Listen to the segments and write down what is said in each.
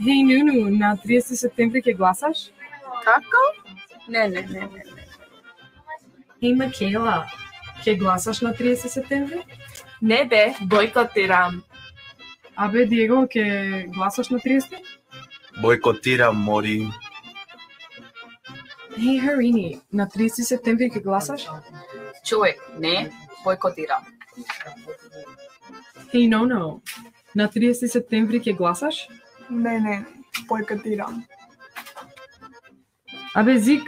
Хеј, Нуну, на 30 септември ќе гласаш? Како? Не. Хеј, Макела, ќе гласаш на 30 септември? Не бе, бойкотирам. Абе, Диего, ќе гласаш на 30? Бойкотирам, Мори. Хеј, Харини, на 30 септември ќе гласаш? Човек, не, бойкотирам. Хеј, Ноно, на 30 септември ќе гласаш? Не, бойкотирам. Абе, Зик,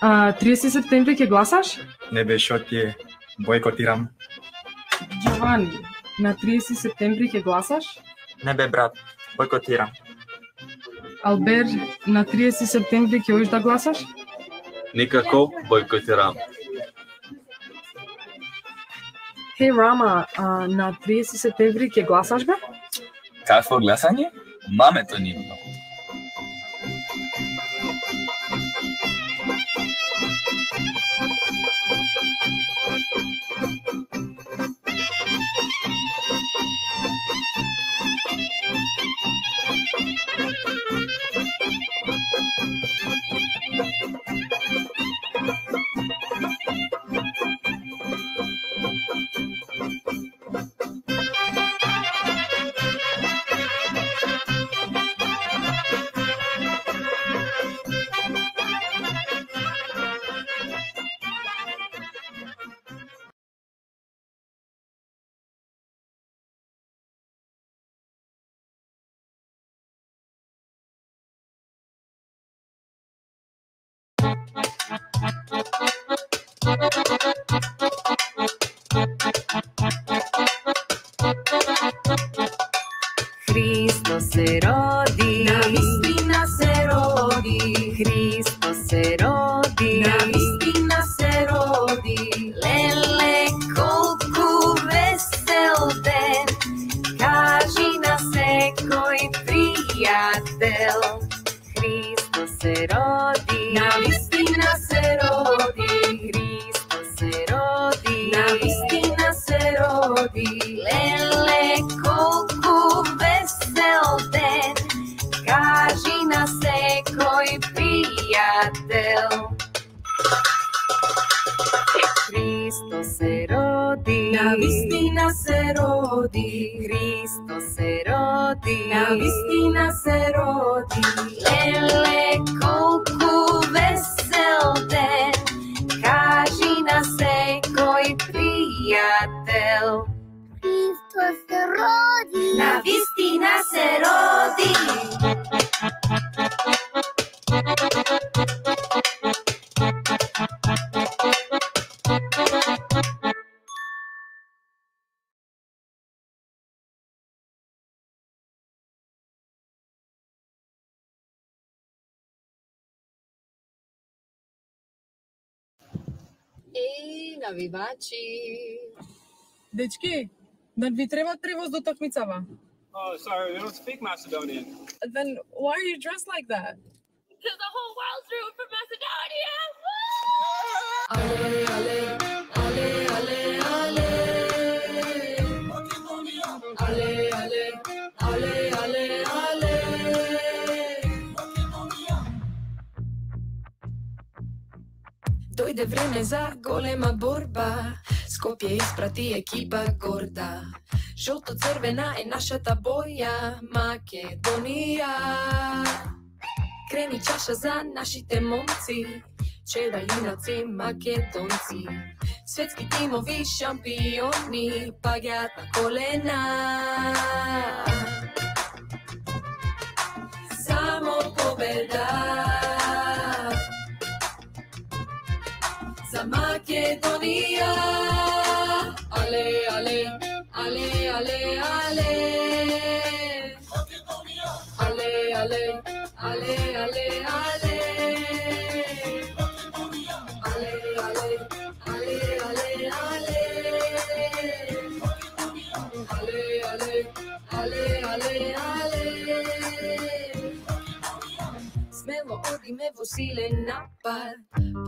30 септември ќе гласаш? Не бе, шо ти е? Бойкотирам. Джовани, на 30 септември ќе гласаш? Не бе, брат, бойкотирам. Албер, на 30 септември ќе оиш да гласаш? Никако, бойкотирам. Хеј, Рама, на 30 септември ќе гласаш, бе? Какво гласање? Мамето нивно. Христос се роди, навистина се роди, Христос се роди, навистина се роди. Леле, колку весел ден, кажи на секој пријател. Христос се роди, навистина се роди, Христос се роди, навистина се роди. Леле, колку весел ден, кажи на секој пријател. Христос се роди, навистина се роди, Христос се роди, навистина се роди. Леле, колку весел ден, кажи на секој пријател. Христос се роди, навистина се роди. Еј, навивачи. Дечки, да ви треба превоз до такмицава? Oh, sorry, we don't speak Macedonian. Then why are you dressed like that? because the whole world's rooting for Macedonia. Ale, ale, ale, ale, ale. Ale, ale, ale, ale, ale. Дојде време за голема борба. Скопје испрати екипа горда. Жолто-црвена е нашата боја, Македонија. Крени чаша за нашите момци, чеда јунаци македонци. Светски тимови шампиони, паѓаат на колена. Само победа за Македонија. Але, але, ale, ale, ale. Ale, ale, ale, ale, ale. Ale, ale, ale, ale, ale. Ale, ale, ale, ale, ale. Смело оди ме во силен напад.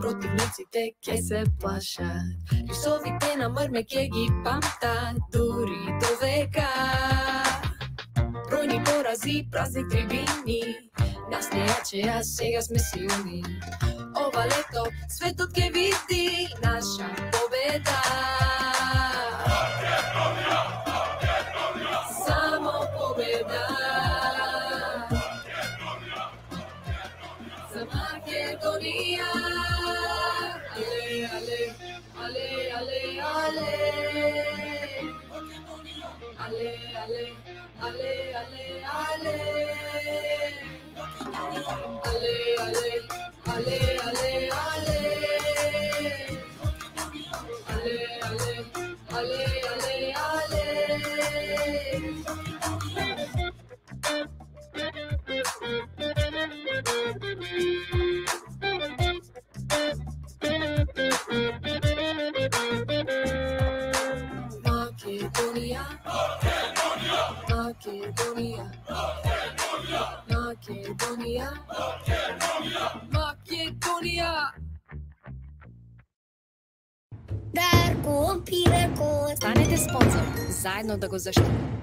Противниците ке се плашат. Рисовите на мрме ке ги памтат, дури до века. Бројни порази, празни трибини, нас не јаче, а сега сме силни. Ова лето светот ке види наша победа. Само победа. За Македонија. Але, але, але, але, але. Ale, ale, ale, ale, ale. Ale, ale, ale, ale, ale. Ale, ale, ale, ale, Makedonia, Makedonia, Makedonia, Makedonia. Дарко, Пирако. Станете спонзор, заедно да го заштитите.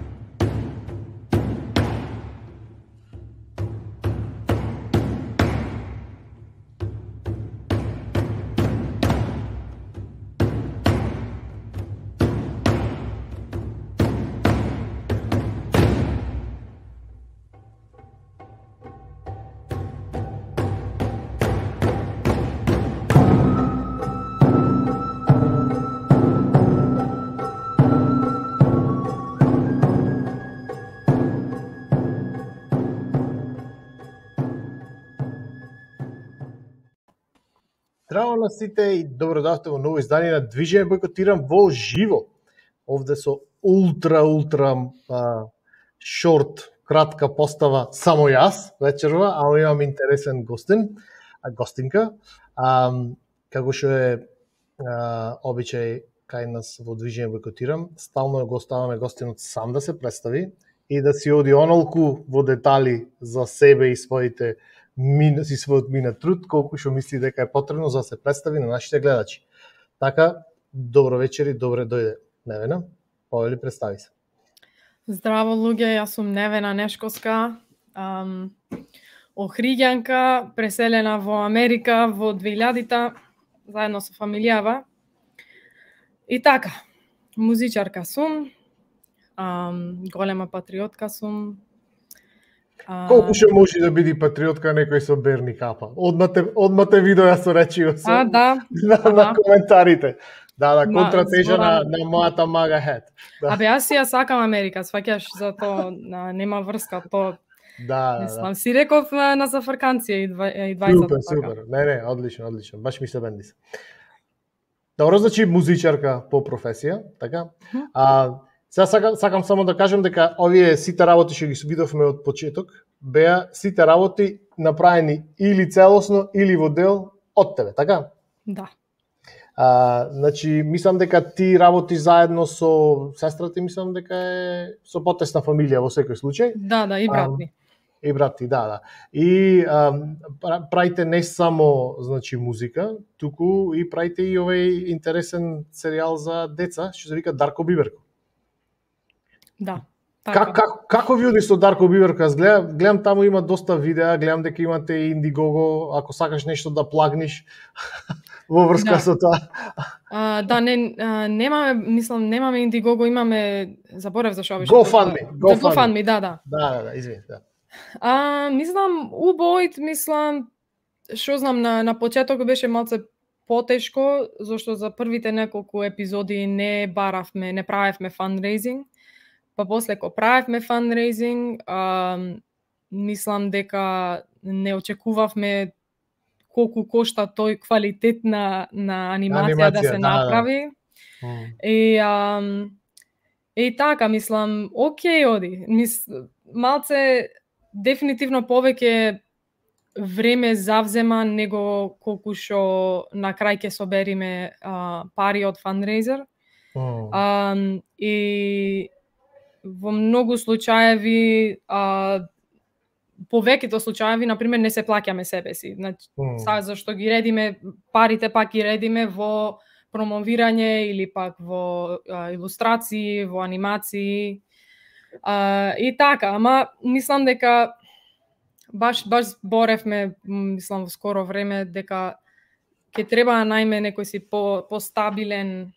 Здраво на сите и добро дојдовте во ново издание на Движење Бойкотирам во живо. Овде со ултра шорт, кратка постава само јас вечерва, а имам интересен гостинка. Како што е обичај кај нас во Движење Бойкотирам, стално го оставаме гостинот сам да се представи и да си оди онолку во детали за себе и својот минат труд, колку што мисли дека е потребно за да се представи на нашите гледачи. Така, добро вечер и добре дојде. Невена, повели представи се. Здраво луѓе, јас сум Невена Нешковска, Охриѓанка, преселена во Америка во 2000-та, заедно со фамилијава. И така, музичарка сум, голема патриотка сум. Колку што може да биде патриотка некој со берни капа? Одма те видео јас со речио со на коментарите. Да, контратежа на мојата мага хет. Да. Абе, јас ја сакам Америка, сваќаш, зато нема врска то. Да. Мислам, си реков на зафрканција и 20. Супер. Не, одлично. Баш ми се бенди се. Добро, значи музичарка по професија, така? Сега сакам само да кажем дека овие сите работи што ги видовме од почеток, беа сите работи направени или целосно, или во дел од тебе, така? Да. Значи, мислам дека ти работи заедно со сестрата, мислам дека е со потесна фамилија во секој случај. Да, и брат ми. И брат ти, да. И правите не само, значи, музика, туку и правите и овој интересен серијал за деца, што се вика Дарко Биберко. Да. Како ви оди со Дарко Биберко? Аз гледам таму има доста видеа, гледам дека имате Индигого, ако сакаш нешто да плагниш во врска со тоа. Да, немаме Индигого, имаме, заборев за што беше. GoFundMe, да. Да, извини, да. Мислам, убојт, што знам, на почеток беше малце потешко, зашто за првите неколку епизоди не правевме фандрейзинг. Па после ко правевме фандрейзинг, мислам дека не очекувавме колку кошта тој квалитет на анимација да се направи. И така, мислам, окей оди. Малце дефинитивно повеќе време завзема него колку што на крај ќе собериме пари од фандрейзер. И во многу случаеви повеќето случаи, на пример, не се плаќаме себе си. Значи, зашто ги редиме, парите пак ги редиме во промовирање или пак во илустрации, во анимации. И така, ама мислам дека баш боревме, мислам во скоро време, дека ќе треба да најме некој си постабилен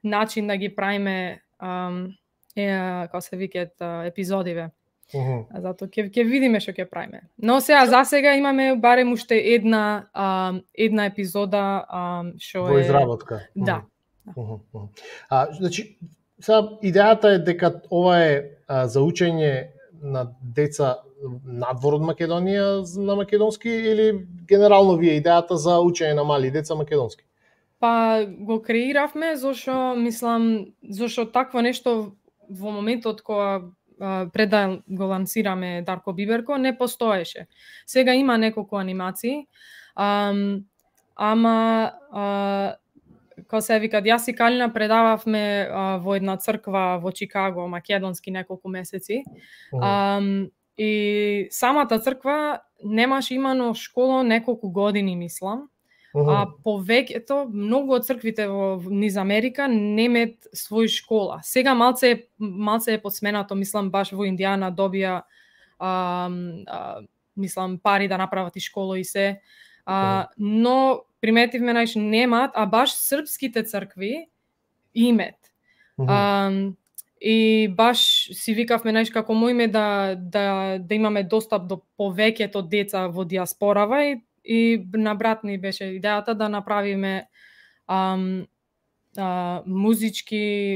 начин да ги правиме како се викаат епизодиве. Затоа ќе видиме што ќе правиме. Но за сега имаме барем уште една епизода што во изработка. Да. Значи, сега идејата е дека ова е за учење на деца надвор од Македонија на македонски или генерално вие идејата за учење на мали деца македонски? Па го креиравме зашто такво нешто во моментот кога пред да го лансираме Дарко Биберко не постоеше. Сега има неколку анимации, ама како се викат, јас и Калина предававме во една црква во Чикаго, македонски неколку месеци. И самата црква немаше имано школа неколку години, мислам. А повеќето, многу од црквите во низ Америка немаат своја школа. Сега малце е подсменато, мислам баш во Индијана добија мислам пари да направат и школа и се. Но приметивме немаат, а баш српските цркви имаат. И баш си викавме како моиме да имаме достап до повеќето деца во диаспорава и на брат ни беше идејата да направиме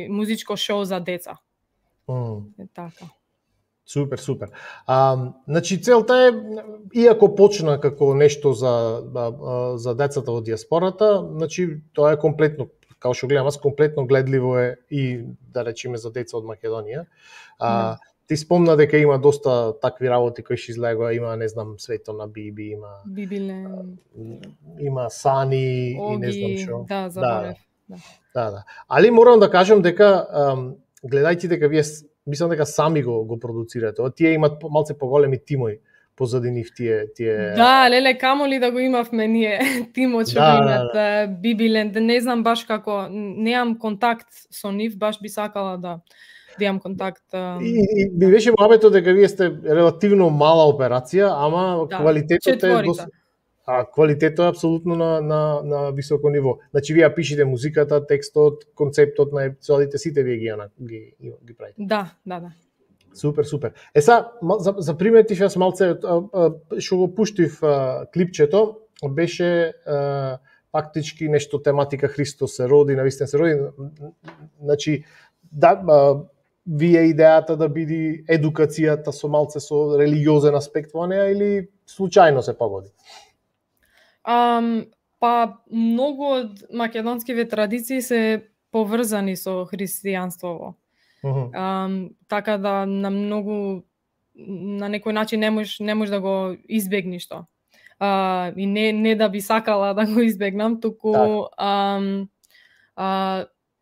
музичко шоу за деца. Така. Супер. Значи целта е, иако почна како нешто за децата во диаспората, значи тоа е комплетно, како што гледам, комплетно гледливо е и да речеме за деца од Македонија. Ти спомна дека има доста такви работи кои што излегува, има, не знам, Свето на Биби, има Бибилен, има Сани Оги, и не знам што. Да, заборев. Да. Али морам да кажам дека гледајќи дека вие мислам дека сами го продуцирате. Тие имат малце поголеми тимови позади нив тие. Да, леле, камоли да го имавме ние тимот што го имат Бибилен. Не знам баш како, неам контакт со нив, баш би сакала да имам контакт. И би беше муабето дека вие сте релативно мала операција, ама квалитетот е квалитетот е апсолутно на високо ниво. Значи вие пишете музиката, текстот, концептот на епизодите, сите вие ги правите. Да. Супер. За приметив јас малце што го пуштив клипчето, беше фактички нешто тематика Христос се роди, навистина се роди. Значи вие идејата да биде едукацијата со малце со религиозен аспект во неа или случајно се погоди? Па многу од македонските традиции се поврзани со христијанството. Така да на некој начин не можеш да го избегнеш тоа. И не да би сакала да го избегнам, туку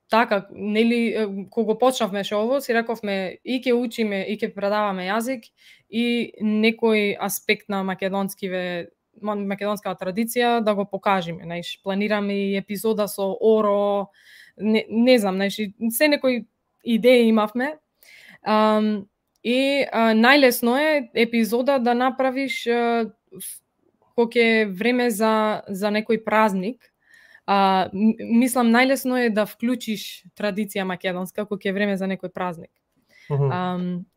така, нели, кога почнавме шоу, си рековме и ќе учиме, и ќе предаваме јазик и некој аспект на македонска традиција да го покажеме. Планираме и епизода со Оро, не знам, се некои идеи имавме. И најлесно е епизода да направиш кога е време за некој празник. Мислам, најлесно е да вклучиш традиција македонска кога е време за некој празник.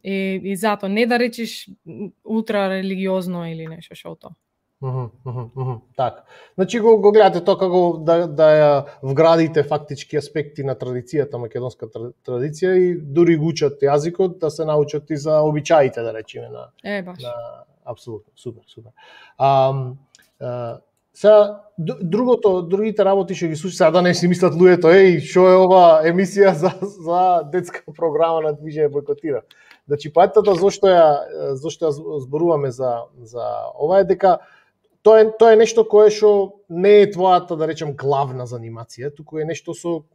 И затоа, не да речиш ултра религиозно или нешто шото. Така. Значи го гледате тоа како да ја вградите фактички аспекти на традицијата, македонска традиција и дури го учат јазикот, да се научат и за обичаите, да речеме баш. Апсолутно, супер. Сега другите работи што ги слушам, сега да не си мислат луѓето, што е ова емисија за детска програма на Движење бойкотира. Значи поентата зошто ја зборуваме за ова е дека тоа е нешто кое што не е твојата, да речем, главна занимација, туку е нешто со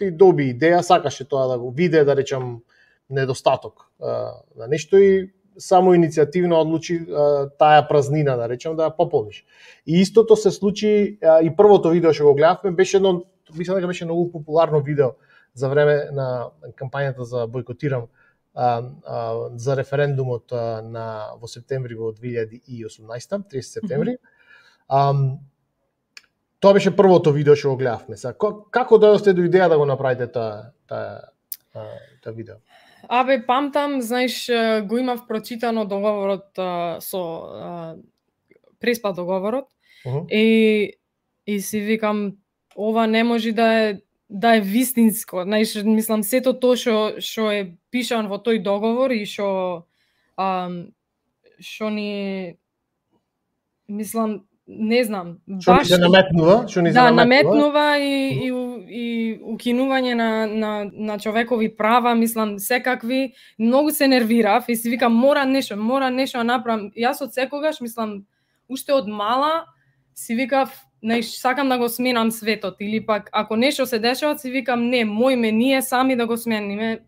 ти доби идеја, сакаше тоа да го виде, да речем, недостаток на нешто и само иницијативно одлучи таа празнина, да речем, да ја пополниш. И истото се случи и првото видео што го гледавме беше едно, мислам дека беше многу популарно видео за време на кампањата за бойкотирам за референдумот во септември во 2018, 30 септември. Тоа беше првото видео што го гледавме. Како дојдовте до идеја да го направите тоа видео? Абе, памтам, знаеш, го имав прочитано договорот со преспа договорот и си викам, ова не може да е вистинско. Знаеш, мислам, сето тоа што е пишан во тој договор и што ни, мислам, не знам, што ни се наметнува, наметнува и укинување на човекови права, мислам, секакви, многу се нервирав и си викам мора нешто да направам. Јас од секогаш, мислам, уште од мала си викав, сакам да го сменам светот, или пак ако нешто се дешава, си викам не, мојме ние сами да го смениме,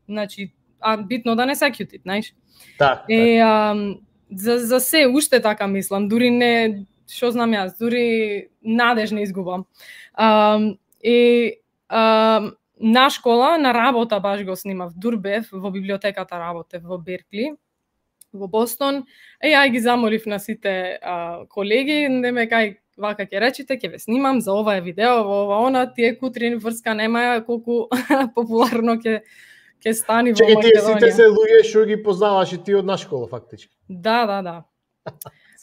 значи, битно да не се кјутит, знаеш. За се уште така мислам, дури не, што знам јас, дури надеж не изгубам. На школа, на работа баш го снимав, дур бев, во библиотеката работев во Беркли, во Бостон, ја ги замолив на сите колеги, неме кај вака ќе речите, ќе ве снимам за ова видео, во ова она, тие кутрин врска нема, колку популарно ќе стани во Македонија. Тие сите се луѓе што ги познаваш и ти од наша школа, фактички. Да.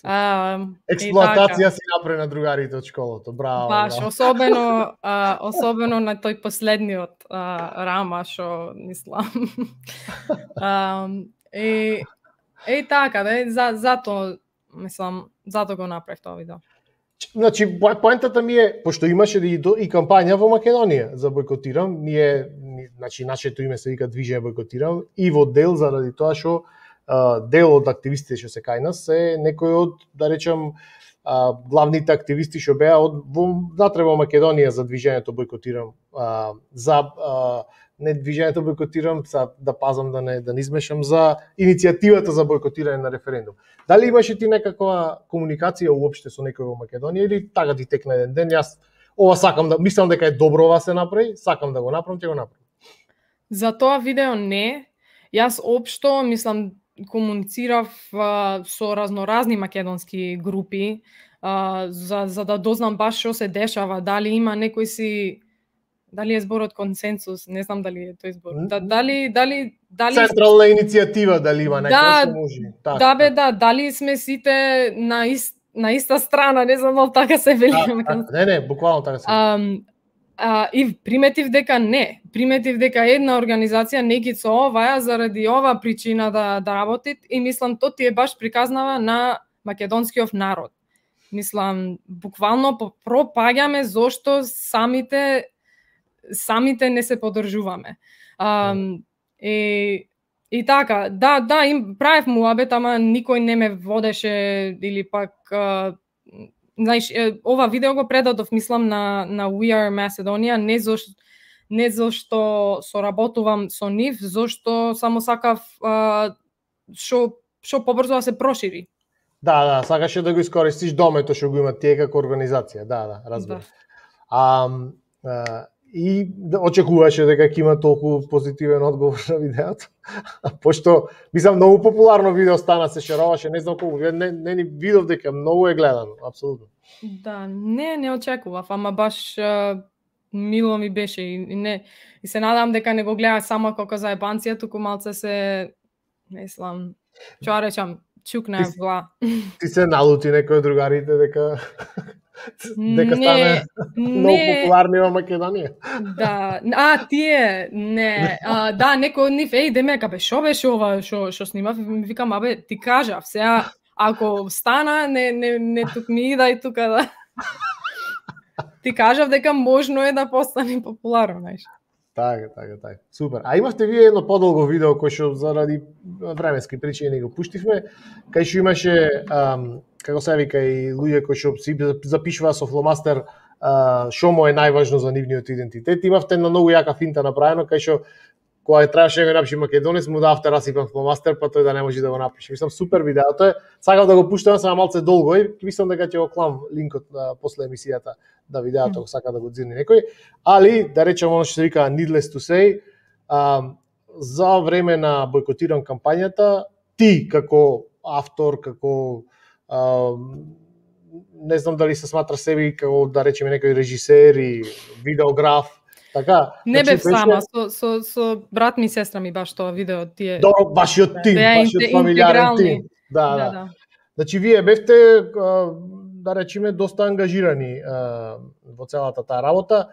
Експлоатација си направи на другарите од школото, браво. Баш, особено на тој последниот рама, што мислам. Така, зато, мислам, зато го направив тоа видео. Значи, поентата ми е, пошто имаше и кампања во Македонија за бойкотирам, значи, нашето име се вика Движење бойкотирам, и во дел заради тоа што дел од активистите што се кај нас е некој од, да речем, главните активисти што беа внатре во Македонија за Движењето бойкотирам, за не Движењето бойкотирам, да пазам да не измешам, за иницијативата за бойкотирање на референдум. Дали имаше ти некаква комуникација уопште со некој во Македонија или така ти текна еден ден, јас ова сакам да, мислам дека е добро ова се направи, сакам да го направам, ќе го направам. За тоа видео не. Јас општо, мислам, комуницирав со разноразни македонски групи за да дознам баш што се дешава, дали има некој си, дали е зборот консенсус, не знам дали е тој збор. Дали централна иницијатива дали има некој што може. Дали сме сите на иста страна, не знам дали така се вели. Не, буквално така се. И приметив дека не. Приметив дека една организација не ги со оваа заради ова причина да работи и мислам тоа ти е баш приказнава на македонскиот народ. Мислам, буквално пропаѓаме зошто самите не се поддржуваме. И така, им правев муабет, ама никој не ме водеше или пак знаеш, ова видео го предадов, мислам, на We Are Macedonia, не зашто соработувам со нив, зашто само сакав што побрзо да се прошири. Да, сакаше да го искористиш домето што го имат тие како организација, разбирам. И очекуваше дека ќе има толку позитивен одговор на видеото. Пошто, мислам, многу популарно видео стана, се шероваше, не знам колку, не ни видов дека многу е гледано, апсолутно. Да, не очекував, ама баш мило ми беше и се надам дека не го гледаш само како за ебанција, туку малце се, мислам, што речам, чукна вла. Ти се налути некој од другарите дека стане многу популарни во Македонија. Да, тие, не. Да, некој од нив, демека, шо беше ова што снимав, ми викам, ти кажав, сега, ако стана, не тук ми идај тука да... Ти кажав дека можно е да постане популарно, знаеш. Така. Супер. А имавте вие едно подолго видео кој што заради временски причини не го пуштивме, кај што имаше како се вика и луѓе кои што си запишуваа со фломастер што му е најважно за нивниот идентитет. Имавте една многу јака финта направено кај што кога требаше да го напише македонец, му давте расипан фломастер, па тој да не може да го напише. Мислам супер видеото е. Сакав да го пуштам само малце долго и мислам дека ќе го клам линкот после емисијата да видеото, сака да го дзирни некој. Али да речем оно што се вика needless to say, за време на бойкотиран кампањата, ти како автор, како не знам дали се сматра себе како да речеме некој режисер и видеограф, така. Не бев сама, со брат ми и сестра ми баш тоа видео тие. Добро, вашиот тим, вашиот фамилиарен тим. Да. Значи вие бевте да речеме доста ангажирани во целата таа работа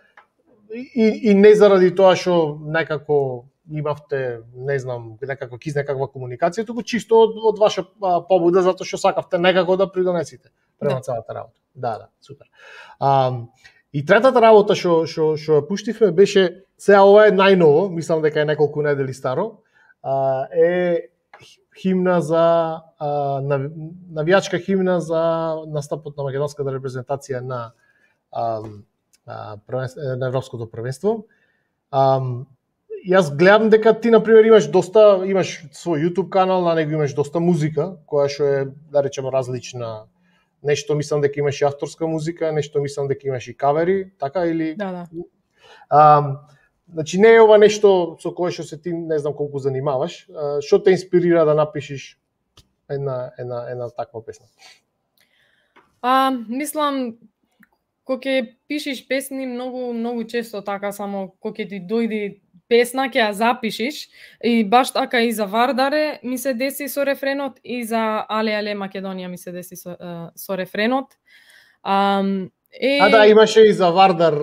и не заради тоа што некако имавте, не знам, некако некаква комуникација, туку чисто од ваша побуда затоа што сакавте некако да придонесите према целата работа. Да, супер. И третата работа што ја пуштивме беше, сега ова е најново, мислам дека е неколку недели старо, е химна за навијачка химна за настапот на македонската репрезентација на Европското првенство. Јас гледам дека ти на пример имаш свој YouTube канал, на него имаш доста музика, која што е да речеме различна. Нешто мислам дека имаш и авторска музика, нешто мислам дека имаш и кавери, така или? Да. Значи не е ова нешто со кое што се ти не знам колку занимаваш. Што те инспирира да напишеш една таква песна? Мислам кога ќе пишеш песни многу често така само кога ќе ти дојде песна ќе ја запишиш и баш така и за Вардаре ми се деси со рефренот и за Але Македонија ми се деси со рефренот. Да, имаше и за Вардар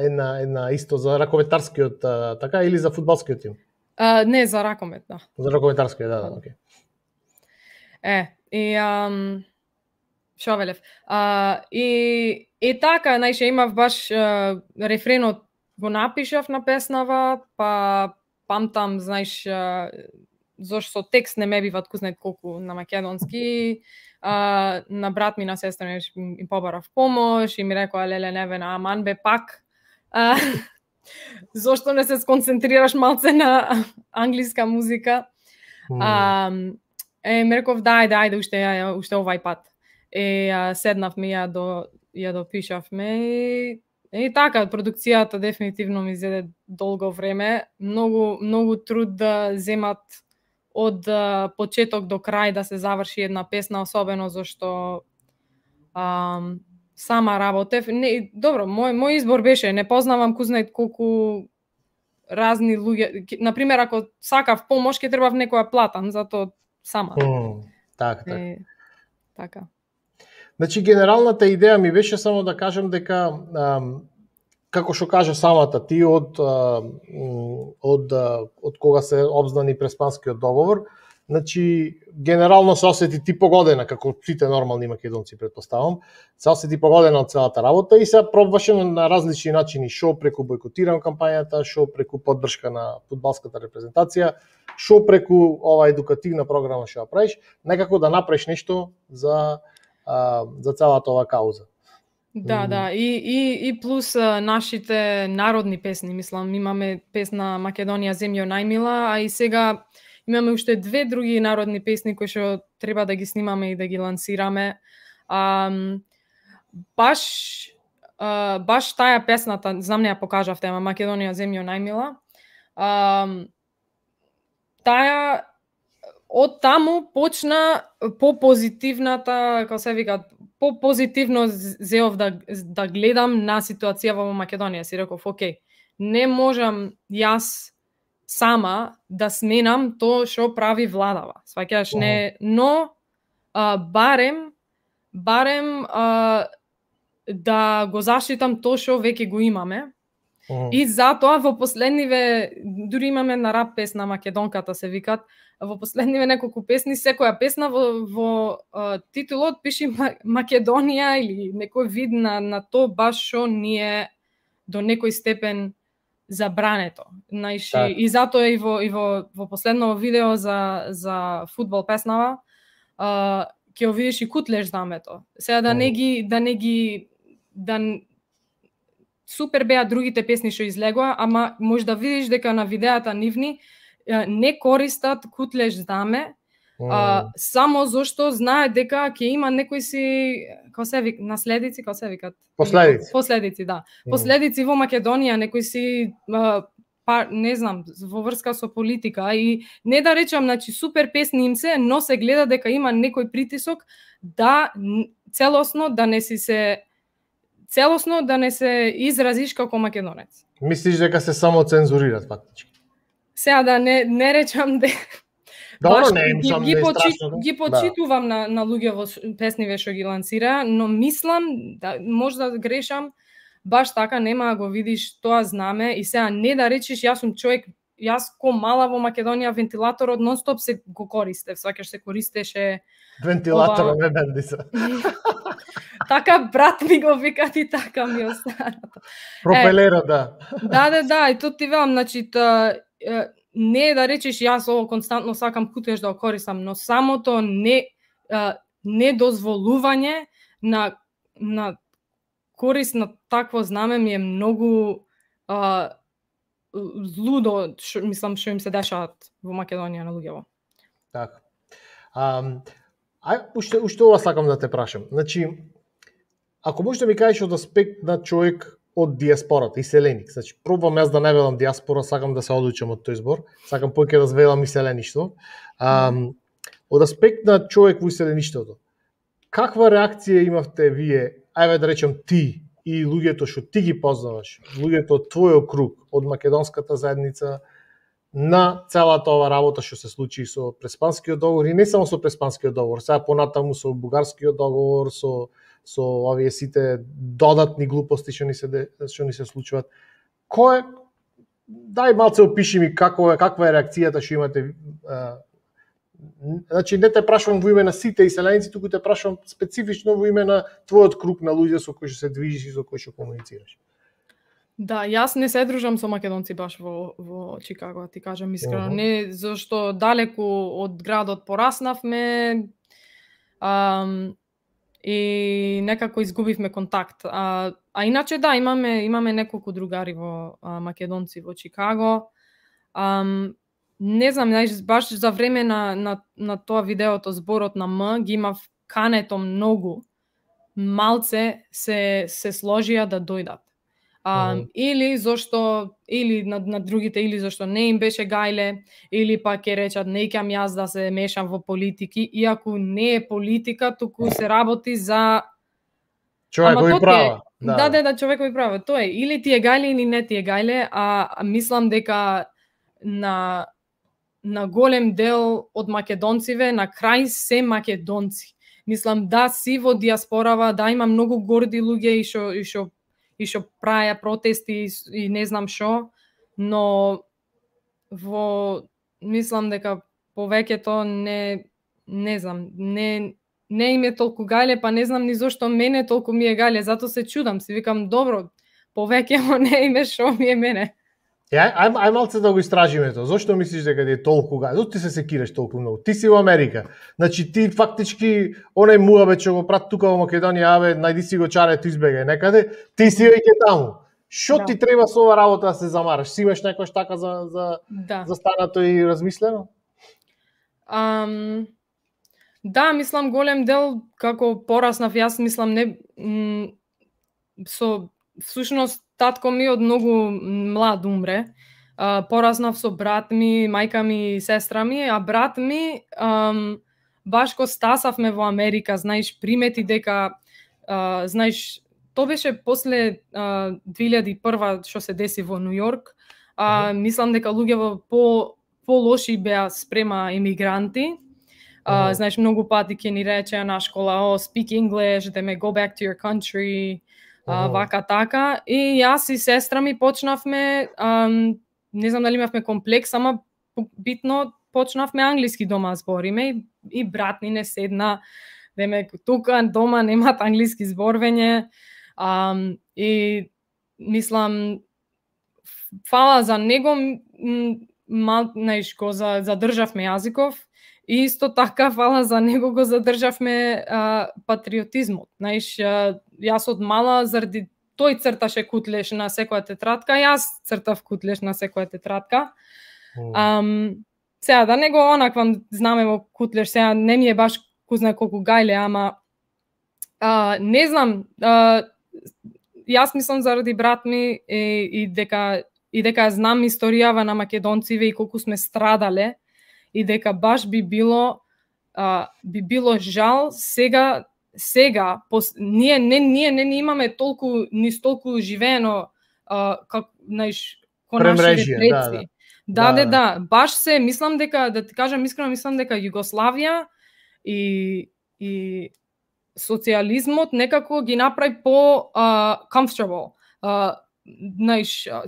една исто за ракометарскиот така или за фудбалскиот тим? Не, за ракомет, да. За ракометарскиот, да, окей. Шовелев. И така, најше имав баш рефренот го напишав на песнава, па памтам, знаеш, зашто со текст не ме биват кузнет колку на македонски. На брат ми, на сестра ми им побарав помош и ми рекоа, леле, неве, на аман бе пак. Зошто не се сконцентрираш малце на англиска музика? Ми реков, ајде, уште овај пат. Седнавме ја допишавме и така, продукцијата дефинитивно ми зеде долго време. Многу труд да земат од почеток до крај да се заврши една песна, особено зашто сама работев. Добро, мој избор беше, не познавам кузнет колку разни луѓе. Например, ако сакав помош, ќе требав некоја платам, затоа сама. Така. Значи, генералната идеја ми беше само да кажам дека, како што кажа самата ти, од кога се обзнани Преспанскиот договор, значи, генерално се осети ти погодена, како сите нормални македонци, предпоставам, се осети погодена од целата работа и се пробваше на различни начини, шо преку бойкотиран кампањата, шо преку поддршка на фудбалската репрезентација, шо преку ова едукативна програма што ја правиш, некако да направиш нешто за целата ова кауза. Да, и плюс нашите народни песни, мислам, имаме песна Македонија земјо најмила, а и сега имаме уште две други народни песни кои што треба да ги снимаме и да ги лансираме. Баш таа песната, знам не ја покажавте, ама Македонија земјо најмила. Таа од таму почна по-позитивната, како се вика, по-позитивно зеов да гледам на ситуацијава во Македонија. Си реков, окей, не можам јас сама да сменам тоа што прави владава. Сваќаш, не, но барем да го заштитам тоа што веќе го имаме. И затоа во последниве, дури имаме на рап песна Македонката се викат, во последниве неколку песни, секоја песна во титулот пише Македонија или некој вид на то баш што ние до некој степен забрането. Знаеш, и затоа и во последно видео за фудбал песнава ќе го видиш и кутлеш знамето. Сега супер беа другите песни што излегоа, ама може да видиш дека на видеата нивни не користат кутлеш знаме, само зашто знаат дека ќе има некои си, како се вика, наследици, како се викат? Последици, да. Последици во Македонија, некои си не знам, во врска со политика и не да речам, значи супер песни им се, но се гледа дека има некој притисок да целосно да не се изразиш како македонец. Мислиш дека се само цензурират фактички? Сега да не речам Добро, ги почитувам на луѓе во песниве што ги лансира, но мислам, може да грешам, баш така нема да го видиш тоа знаме и сега не да речеш јас сум човек, јас ко мала во Македонија вентилаторот нон-стоп се го користев, сваќаш се користеше вентилаторот не бендиса. Така брат ми го викат и така ми останато. Пропелерот, да. Да, и тут ти велам, значи не да речеш јас ово константно сакам кутлеш да го користам, но самото недозволување на корист на такво знаме ми е многу злудо, мислам, што им се дешават во Македонија на луѓево. Така. Уште ова сакам да те прашам. Значи, ако можеш да ми кажеш од аспект на човек од диаспората, иселеник, значи, пробвам јас да не велам диаспора, сакам да се одучам од тој збор, сакам повеќе да велам иселеништво. Од аспект на човек во иселеништвото, каква реакција имавте вие, ајде да речем ти и луѓето што ти ги познаваш, луѓето од твојот круг, од македонската заедница, на целата ова работа што се случи со Преспанскиот договор и не само со Преспанскиот договор, сега понатаму со Бугарскиот договор, со овие сите додатни глупости што ни се случуваат. Дај малце опиши ми каква е реакцијата што имате. Значи не те прашувам во име на сите иселеници, туку те прашувам специфично во име на твојот круг на луѓе со кои што се движиш и со кои што комуницираш. Да, јас не се дружам со македонци баш во Чикаго, ти кажам искрено, не зашто далеку од градот пораснавме и некако изгубивме контакт. А иначе да, имаме неколку другари во македонци во Чикаго. Не знам, баш за време на тоа видеото зборот на М ги имав кането многу. Малце се сложија да дојдат. Или на другите, или зашто не им беше гајле, или пак ќе речат не ќам јас да се мешам во политики, иако не е политика, туку се работи за човекови права. Да, човекови права. Тоа е, или ти е гајле или не ти е гајле, а мислам дека на голем дел од македонциве на крај се македонци. Мислам да си во диаспорава, да има многу горди луѓе и што праја протести и не знам што, но мислам дека повеќето не знам, не им е толку гајле, па не знам ни зошто мене толку ми е гајле, зато се чудам, си викам добро, повеќето не им е што ми е мене. Ај малце да го истражиме тоа. Зошто мислиш дека ти е толку гајле? Зошто ти се секираш толку многу? Ти си во Америка. Значи ти фактички онај муабет што го прат тука во Македонија, најди си го чарето избегај некаде, ти си веќе таму. Што ти треба со ова работа да се замараш? Си имаш некојаш така за станато и размислено? Да, мислам голем дел како пораснав, јас мислам всушност татко ми од многу млад умре. Пораснав со брат ми, мајка ми и сестра ми, а брат ми баш ко стасавме во Америка, знаеш, примети дека знаеш, тоа беше после 2001 што се деси во Нью Йорк. Мислам дека луѓе по-лоши беа спрема емигранти. Знаеш, многу пати ќе ни речеа на школа, speak English, go back to your country. Вака така, и јас и сестра ми почнавме, не знам дали имавме комплекс, ама битно почнавме англиски дома збориме и брат ни не седна, тука дома немат англиски зборвење, и мислам, фала за него, го задржавме јазиков, и исто така фала за него го задржавме патриотизмот. Знаеш, јас од мала заради тој црташе кутлеш на секоја тетрадка, јас цртав кутлеш на секоја тетрадка. Сега да не го онаквам знаме во кутлеш, сега не ми е баш кузна колку гајле, ама не знам, јас мислам заради брат ми и дека знам историјава на македонциве и колку сме страдале и дека баш би било жал сега ние не имаме толку живеено како ко нашите предци. Да, баш се мислам дека, да ти кажам искрено, мислам дека Југославија и социјализмот некако ги направи по comfortable.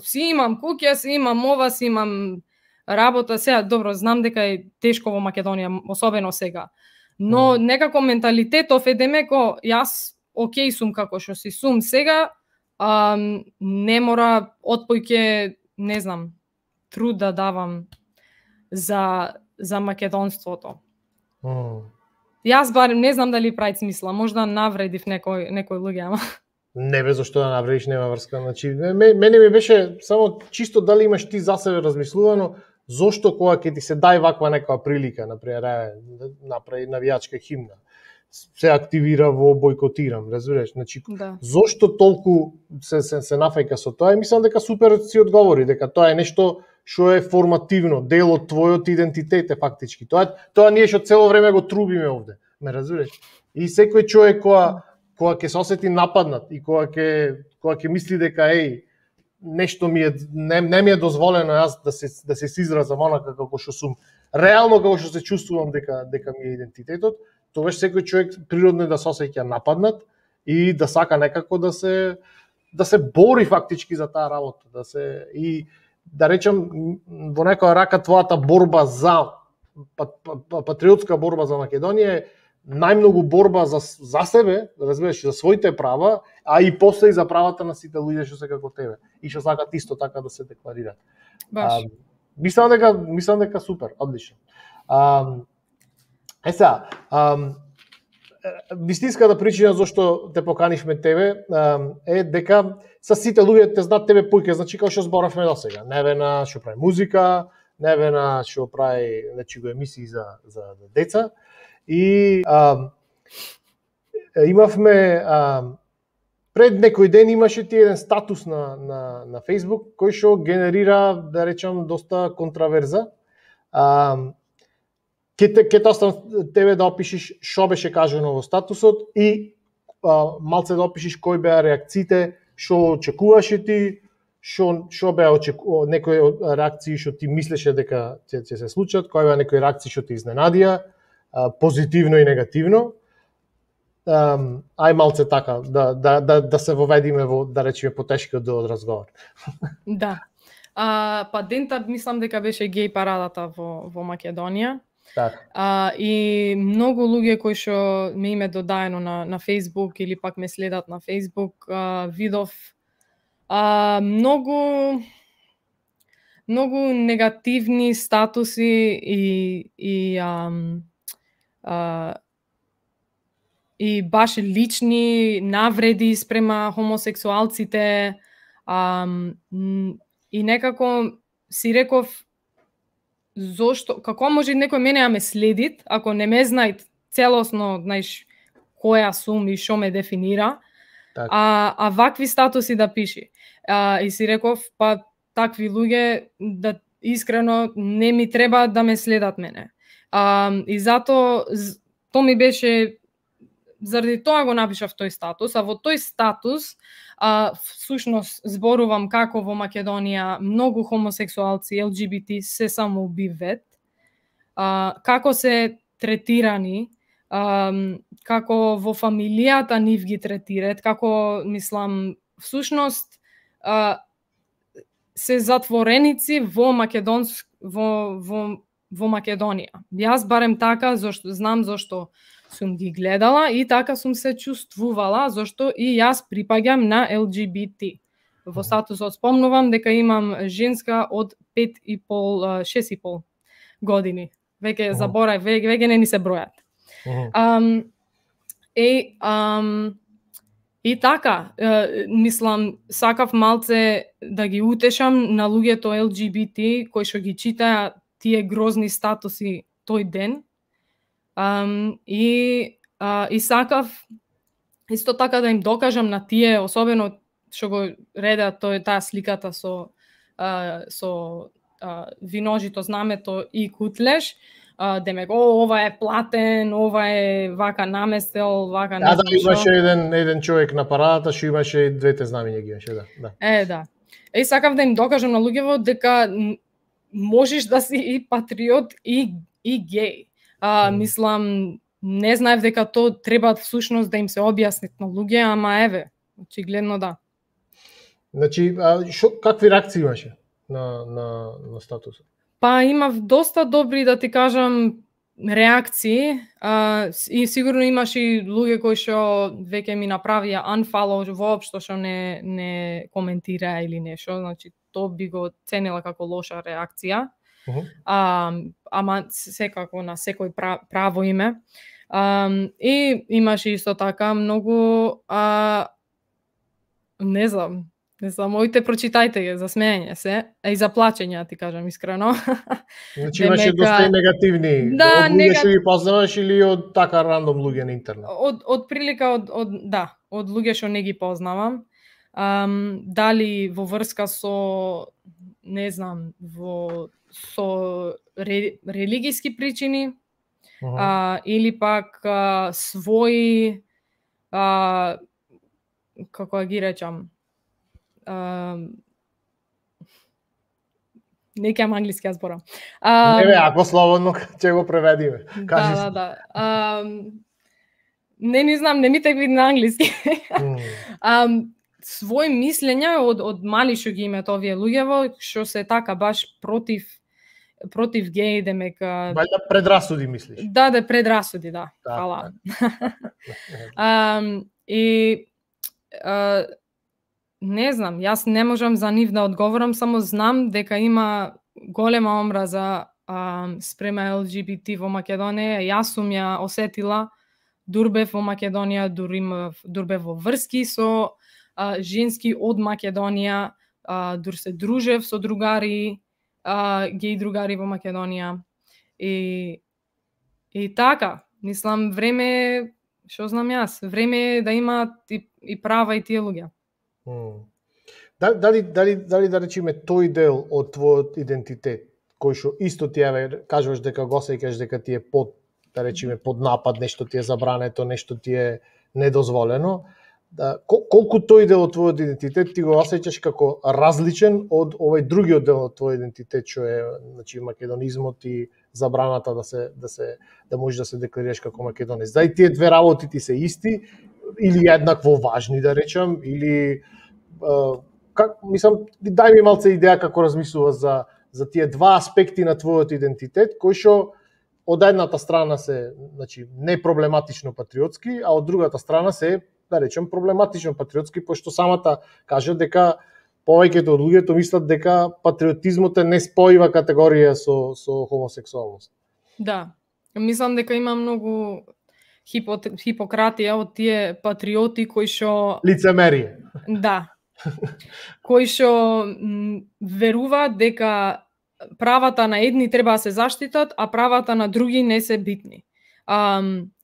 Си имам куќа, си имам ова, си имам работа, сега добро, знам дека е тешко во Македонија, особено сега. Но некако менталитетов е демеко, јас окей сум како што си сум сега, не мора отпојќе, не знам, труд да давам за македонството. Јас барем не знам дали прави смисла, можда навредив некој луѓе, ама не бе, зашто да навредиш, нема врска. Значи, мене ми беше само чисто дали имаш ти за себе размислувано, зошто кога ќе ти се дај ваква некоја прилика, например, направи навијачка химна, се активира во бойкотирам, разбираш? Значи, зошто толку се нафајка со тоа? Мислам дека супер си одговори, дека тоа е нешто што е формативно, дел од твојот идентитет е фактички. Тоа ние што цело време го трубиме овде, ме разбираш? И секој човек кога ќе се осети нападнат и кога ќе мисли дека нешто не ми е дозволено јас да се изразам онака како што сум, реално како што се чувствувам дека ми е идентитетот, тогаш секој човек природно да се осеќа нападнат и да сака некако да се бори фактички за таа работа, и да речем во некоја рака твојата борба за патриотска борба за Македонија е најмногу борба за себе, разбираш, за своите права, а и после и за правата на сите луѓе што се како тебе и што сакат исто така да се декларираат. Мислам дека супер, одлично. Сега, вистинската причина зашто те поканишме тебе е дека са сите луѓе те знаат тебе поиќе, значи како што зборавме досега. Невена што прави музика, Невена што прави го емисии за деца. И имавме пред некој ден имаше ти еден статус на Facebook кој што генерира, да речам, доста контраверза. Ке те оставам тебе да опишеш што беше кажано во статусот и малце да опишеш кои беа реакциите, што очекуваше ти, што беа некои реакции што ти мислеше дека ќе се случат, кои беа некои реакции што те изненадија, позитивно и негативно. Ај малце така, да се воведиме во, да речеме, потешкиот дел од разговор. Да. Па дента мислам дека беше геј парадата во Македонија. И многу луѓе кои што ме име додаено на Facebook или пак ме следат на Facebook, видов многу негативни статуси и баш лични навреди спрема хомосексуалците, и некако си реков зошто, како може некој мене ме следит, ако не ме знаат целосно, знаеш, која сум и што ме дефинира, а вакви статуси да пиши. И си реков, па такви луѓе, да искрено не ми треба да ме следат мене. И затоа, то ми беше, заради тоа го напишав тој статус, а во тој статус, всушност зборувам како во Македонија многу хомосексуалци, LGBT се самоубиваат, како се третирани, како во фамилијата нив ги третираат, како, мислам, всушност се затвореници во Македонија. Јас барем така, знам зашто сум ги гледала и така сум се чувствувала, зашто и јас припаѓам на LGBT. Во статусот спомнувам дека имам женска од 6,5 години. Веќе заборав, веќе не ни се бројат. И така, мислам, сакав малце да ги утешам на луѓето LGBT кои што ги читаа тие грозни статуси тој ден. И сакав исто така да им докажам на тие, особено што го реда таа сликата со виножито знамето и кутлеш, демек, ова е платен, ова е вака наместел, вака не знам што. Имаше еден човек на парадата, што имаше и двете знамиња ги имаше, да. Да. И сакав да им докажам на луѓето дека можеш да си и патриот и геј. Мислам, не знаев дека то треба всушност да им се објасни на луѓе, ама еве, очигледно да. Значи, какви реакции имаше на статусот? Па имав доста добри, да ти кажам, реакции, и сигурно имаш и луѓе кои што веќе ми направија unfollow, воопшто што не коментираа или нешто, значи то би го ценила како лоша реакција. Ама секако на секој право име. И имаше исто така многу не знам, моите прочитајте ги, за смеење се, и за плачење, ти кажам искрено. Значи имаше доста и негативни, од луѓе што ги познаваш или од така рандом луѓе на интернет? Од прилика од луѓе што не ги познавам. Дали во врска со, не знам, со религиски причини, или пак своји, како ги речам, не кеам англиски ја зборам. Ако слободно ќе го преведиме. Да. Не знам, не ми текви на англиски. Свој мислења од мали што ги имаат овие луѓево, што се така баш против геј, демек... Вајда предрасуди мислиш? Да, предрасуди, да. Фала. И не знам, јас не можам за нив да одговорам, само знам дека има голема омраза спрема LGBT во Македонија. Јас сум ја осетила, дурбев во Македонија, дурбев во врски со женски од Македонија, дур се дружев со другари, геј другари во Македонија. И така, мислам, време, што знам јас, време е да имаат и права и тие луѓе. Дали да речеме тој дел од твојот идентитет, кој што исто ти кажуваш дека го осеќаш дека ти е под, да речеме, под напад, нешто ти е забрането, нешто ти е недозволено, колку тој дел од твојот идентитет ти го осеќаш како различен од овој другиот дел од твојот идентитет, што е, значи, македонизмот и забраната да можеш да се декларираш како македонец. Дали тие две работи ти се исти или еднакво важни, да речам, или мислам, дај ми малце идеја како размислуваш за тие два аспекти на твојот идентитет, кои што од едната страна се, значи, не проблематично патриотски, а од другата страна се, да речем, проблематично патриотски, пошто самата кажа дека повеќето од луѓето мислат дека патриотизмот е неспојива категорија со хомосексуалност. Да, мислам дека има многу хипократија од тие патриоти кои што... Лицемерие. Да. Кои што веруваат дека правата на едни треба да се заштитат, а правата на други не се битни.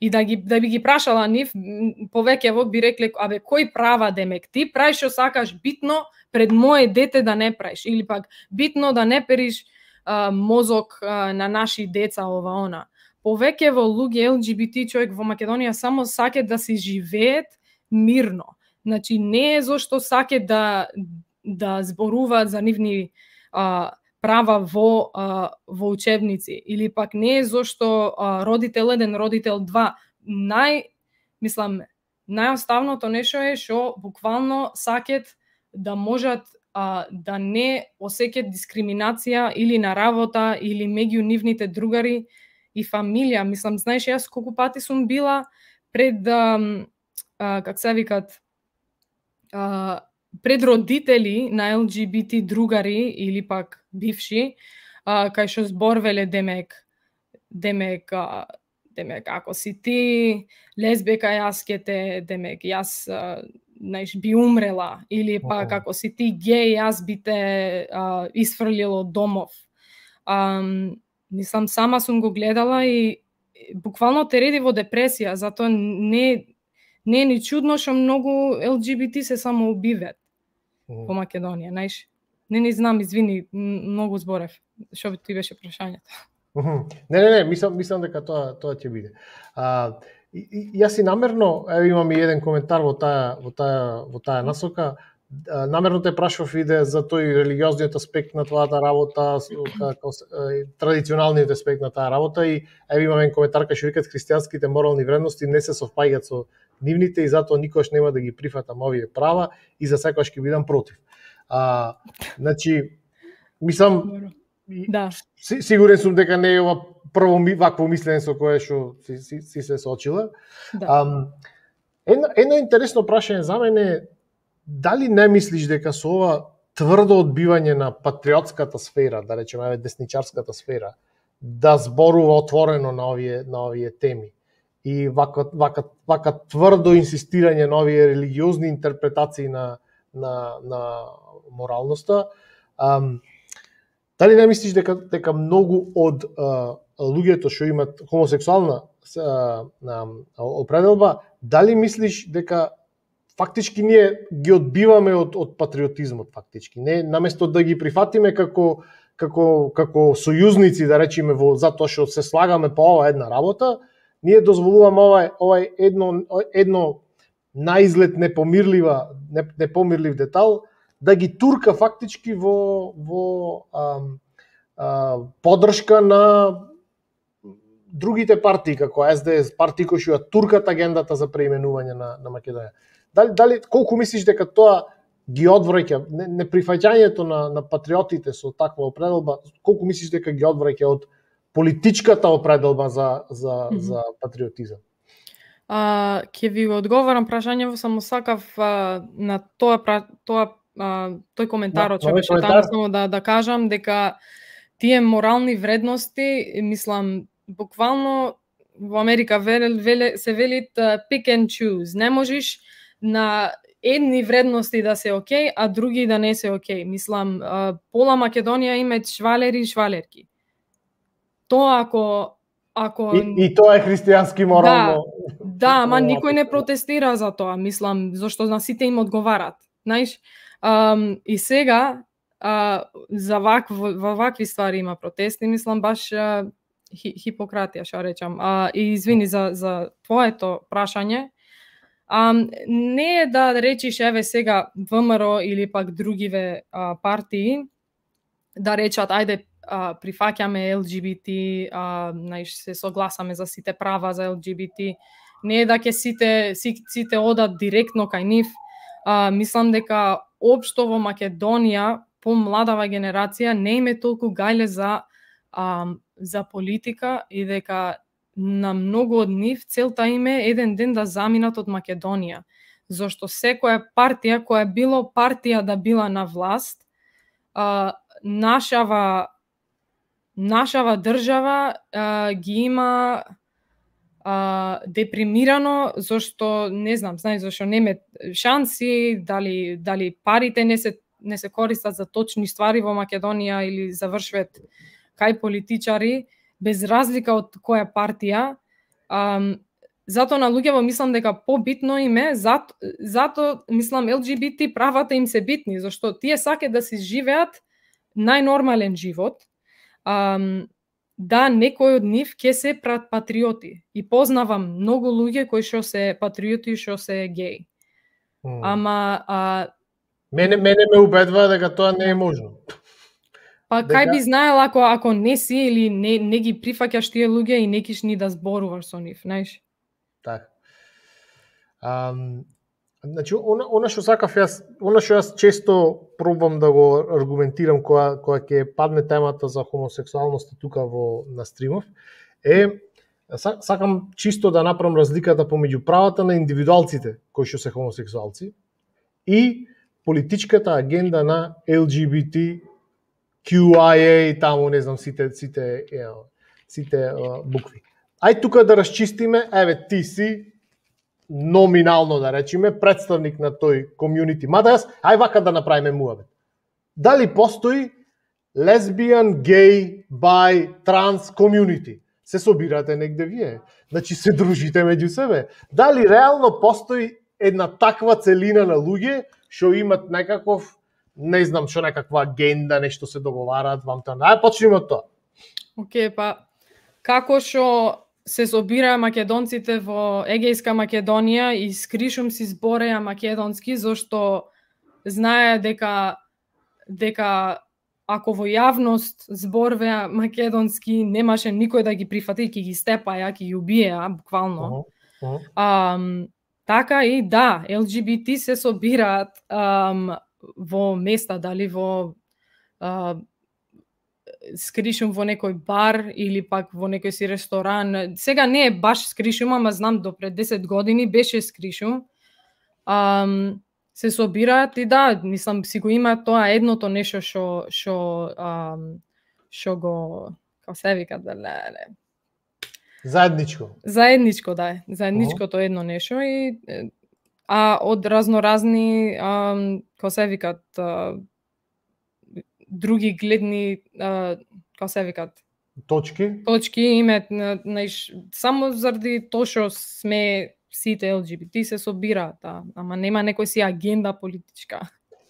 И да би ги прашала нив, повеќево би рекле, абе, кој права демек? Ти правиш што сакаш битно пред моје дете да не правиш, или пак битно да не периш мозок на наши деца, ова она. Повеќево луѓе LGBT човек во Македонија само саке да си живеет мирно. Значи, не е зашто саке да зборуваат за нивни права во учебници, или пак не е зашто родител 1, родител 2. Најоставното нешто е што буквално сакет да можат да не осеќаат дискриминација или на работа, или меѓу нивните другари и фамилија. Мислам, знаеш, јас колку пати сум била пред, как се викат, пред родители на LGBT другари или пак бивши, кај што зборвеле демек ако си ти лесбека, јас ке те, демек, јас знаеш, би умрела, или пак ако си ти геј, јас би те исфрлил од домов. Мислам, сама сум го гледала и буквално те реди во депресија, затоа не е ни чудно што многу ЛГБТ се само убиват по Македонија, знаеш. Не знам, извини, многу зборев. Што ти беше прашањето? Не, мислам дека тоа ќе биде. Јас и намерно, имам и еден коментар во таа насока. Намерно те прашав иде за тој религиозниот аспект на твојата работа, традиционалниот аспект на таа работа, и имам еден коментар кај што викат христијанските морални вредности не се совпаѓаат со нивните и затоа никош нема да ги прифатам овие права и за секогаш ќе бидам против. Значи, мислам, да. Сигурен сум дека не е ова прво вакво мислене со кое што си се соочила. Да. Едно интересно прашање за мене е дали не мислиш дека со ова тврдо одбивање на патриотската сфера, да речеме десничарската сфера, да зборува отворено на овие теми и вака тврдо инсистирање на овие религиозни интерпретации на моралноста, дали не мислиш дека многу од луѓето што имат хомосексуална определба, дали мислиш дека фактички ние ги одбиваме од патриотизмот фактички, не наместо да ги прифатиме како сојузници, да речеме, затоа што се слагаме по ова една работа, ние дозволуваме овај едно наизглед непомирлив детал да ги турка фактички во поддршка на другите партии, како СДС, партии кои што ја туркат агендата за преименување на Македонија. Дали колку мислиш дека тоа ги одвраќа неприфаќањето на патриотите со таква определба, колку мислиш дека ги одвраќа од политичката определба за патриотизам? Ќе ви одговорам прашањето, само сакав на тој коментарот што беше таму, само да кажам дека тие морални вредности, мислам, буквално во Америка се велит pick and choose. Не можеш на едни вредности да се окей, а други да не се окей. Мислам, пола Македонија имаат швалери и швалерки. Тоа ако и тоа е христијански морално. Да, ама никој не протестира за тоа, мислам, зашто на сите им одговарат. Знаеш, и сега за вакви ствари има протести, мислам баш хипократија, што речам. И извини за твоето прашање. Не е да речиш еве сега ВМРО или пак другиве партии да речат ајде прифаќаме ЛГБТ, знаеш, се согласаме за сите права за ЛГБТ. Не е да ќе сите одат директно кај нив. Мислам дека општо во Македонија помладава генерација не име толку гајле за политика и дека на многу од нив целта им е еден ден да заминат од Македонија. Зошто секоја партија која било партија да била на власт, нашава држава ги има депримирано, зашто не знам, знаеш, зашто нема шанси, дали парите не се користат за точни ствари во Македонија или завршваат кај политичари, без разлика од која партија. Зато на луѓево мислам дека побитно им е, зато мислам ЛГБТ правата им се битни, зашто тие сакаат да си живеат најнормален живот. Да, некој од нив ќе се патриоти. И познавам многу луѓе кои што се патриоти и што се геј. Ама мене ме убедува дека тоа не е можно. Па кај би знаел ако не си или не ги прифаќаш тие луѓе и не киш ни да зборуваш со нив, знаеш? Така. Значи, она што сакав јас, она што јас често пробам да го аргументирам кога ќе падне темата за хомосексуалноста тука на стримов, сакам чисто да направам разликата помеѓу правата на индивидуалците кои што се хомосексуалци и политичката агенда на ЛГБТ, QIA, таму не знам сите букви. Ај тука да расчистиме, еве ти си номинално да речеме представник на тој комјунити. Мада јас ај вака да направиме муабет. Дали постои лесбијан, геј, бај, транс комјунити? Се собирате негде вие. Значи се дружите меѓу себе. Дали реално постои една таква целина на луѓе што имат некаков, не знам што, некаква агенда, нешто се договараат вам тоа. Ај почнеме од тоа. Океј, па како што се собираа македонците во Егејска Македонија и скришум си збореа македонски, зашто знае дека ако во јавност зборвеа македонски, немаше никој да ги прифати, ќе ги степаја, ќе ги убиеа, буквално. Така и да, ЛГБТ се собираат во места, дали во скришум во некој бар или пак во некој си ресторан. Сега не е баш скришум, ама знам до пред 10 години беше скришум. Се собираат и да, мислам си го има тоа едното нешто што го, како се вика, Заедничко. Заедничко, да. Заедничкото едно нешто и од разноразни, како се викат, други гледни, како се викат, точки имаат, само заради тоа што сме сите ЛГБТ се собираат, ама нема некој си агенда политичка.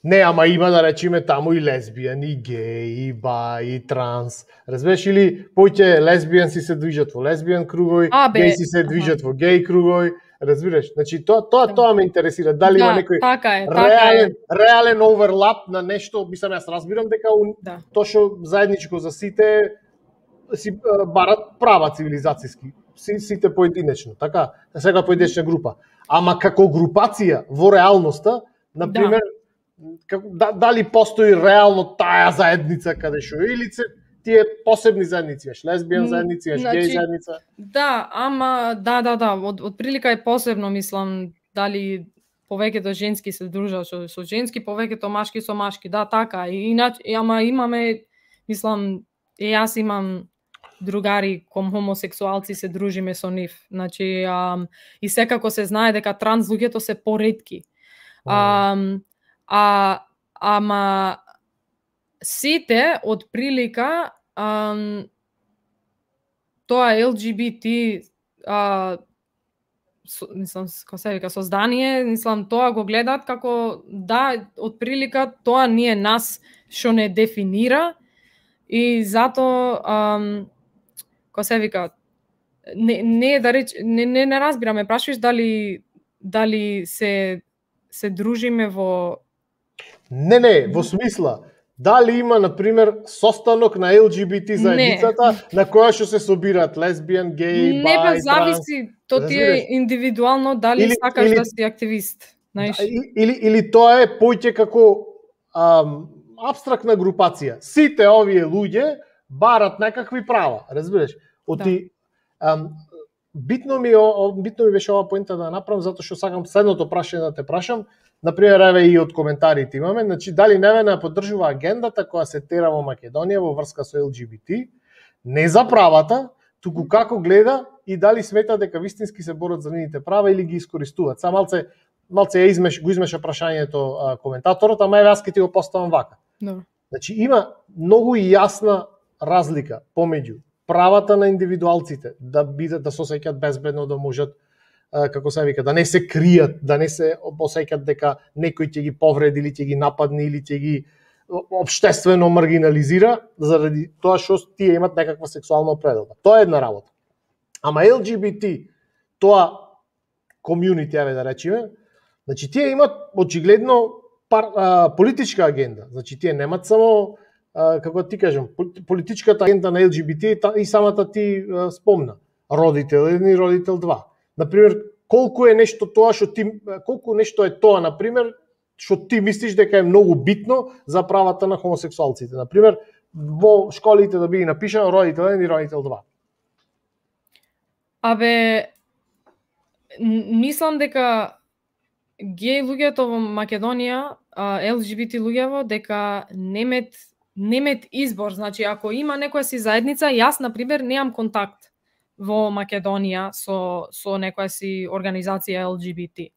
Не, ама има да речеме таму и лесбијан, и геј, и бај, и транс. Разбираш, или поќе лесбијанци се движат во лесбијан кругови, гејси се движат во геј кругови. Разбираш? Значи тоа ме интересира, дали има некој реален оверлап на нешто, мислам јас разбирам дека тоа што заедничко за сите си барат права цивилизацијски, сите поединечно, така, сега поединечна група. Ама како групација во реалноста, на пример, дали постои реално таа заедница каде што или тие посебни заедници, лесбијан заедници, геј заедница? Да, ама од прилика е посебно, мислам, дали повеќето женски се дружат со женски, повеќето машки со машки, да, така, ама имаме, мислам, јас имам другари ком хомосексуалци, се дружиме со нив. Значи, и секако се знае дека транс луѓето се поретки. Ама сите од прилика тоа ЛГБТ мислам, како се вика, создание, мислам, тоа го гледаат како да, од прилика тоа ние нас што не дефинира и зато како се вика, не да реч, не разбираме, прашуваш дали се дружиме во Не, во смисла, дали има, например, состанок на ЛГБТ заедницата на која што се собираат лесбијан, геј, бај, не, па зависи, то ти е индивидуално дали сакаш да си активист, знаеш. Или тоа е поќе како апстрактна групација. Сите овие луѓе барат некакви права, разбираш? Битно ми беше ова поента да направам, затоа што сакам следното прашање да те прашам. Например, еве и од коментарите имаме, значи дали Невена поддржува агендата која се тера во Македонија во врска со ЛГБТ, не за правата, туку како гледа и дали смета дека вистински се борат за нивните права или ги искористуваат. Са малце го измеша прашањето коментаторот, ама еве јас ќе ти го поставам вака. Значи има многу јасна разлика помеѓу правата на индивидуалците да бидат, да се осеќаат безбедно, да можат, како се вика, да не се кријат, да не се осеќаат дека некој ќе ги повреди или ќе ги нападне или ќе ги општествено маргинализира заради тоа што тие имат некаква сексуална определба. Тоа е една работа. Ама ЛГБТ, тоа комјунити, еве да речеме, значи тие имат очигледно политичка агенда. Значи тие немат само, како ти кажам, политичката агенда на ЛГБТ и самата ти спомна. Родител 1 и родител 2. Например, колку е нешто тоа што ти, колку нешто е тоа, например, што ти мислиш дека е многу битно за правата на хомосексуалците. Например, во школите да биде напишано родител 1 и родител 2. Абе, мислам дека геј луѓето во Македонија, ЛГБТ луѓево, дека немет избор. Значи, ако има некоја си заедница, јас, например, немам контакт. во Македонија со некоја си организација LGBT.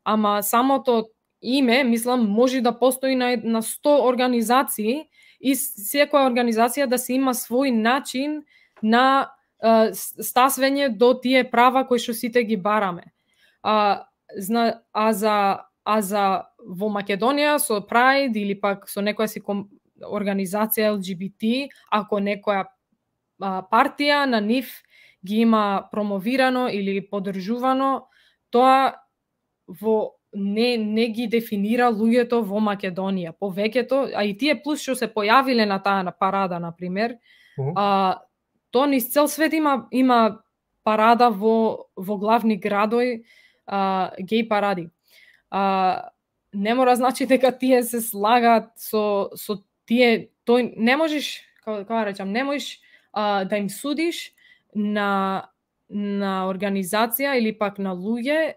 Ама самото име, мислам, може да постои на 100 организации и секоја организација да си има свој начин на стасвење до тие права кои што сите ги бараме. А за во Македонија со Pride или пак со некоја си организација LGBT, ако некоја партија на нив ги има промовирано или поддржувано, тоа не ги дефинира луѓето во Македонија. Повеќето, а и тие плюс што се појавиле на таа парада, например, тоа низ цел свет има парада во главни градови, геј паради. Не мора значи дека тие се слагаат со тие, тој не можеш, како да речам, не можеш да им судиш на организација или пак на луѓе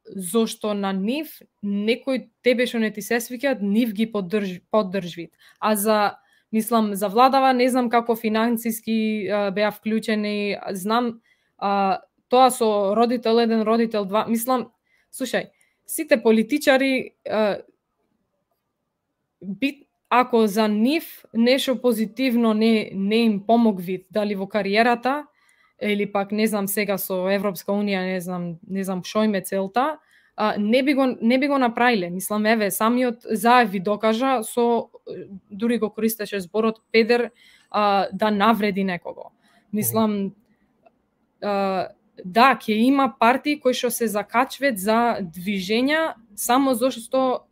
зошто на нив некој тебе што не ти се свиќаат, нив ги поддржвит. А мислам, за владава не знам како финансиски беа вклучени, знам тоа со родител 1, родител 2, мислам, слушај, сите политичари ако за нив нешто позитивно не им помогви, дали во кариерата, или пак не знам сега со Европска унија, не знам што им е целта, не би го направиле. Мислам, еве, самиот Заев ви докажа дури го користеше зборот педер да навреди некого. Мислам, да, ќе има партии кои што се закачват за движења само зашто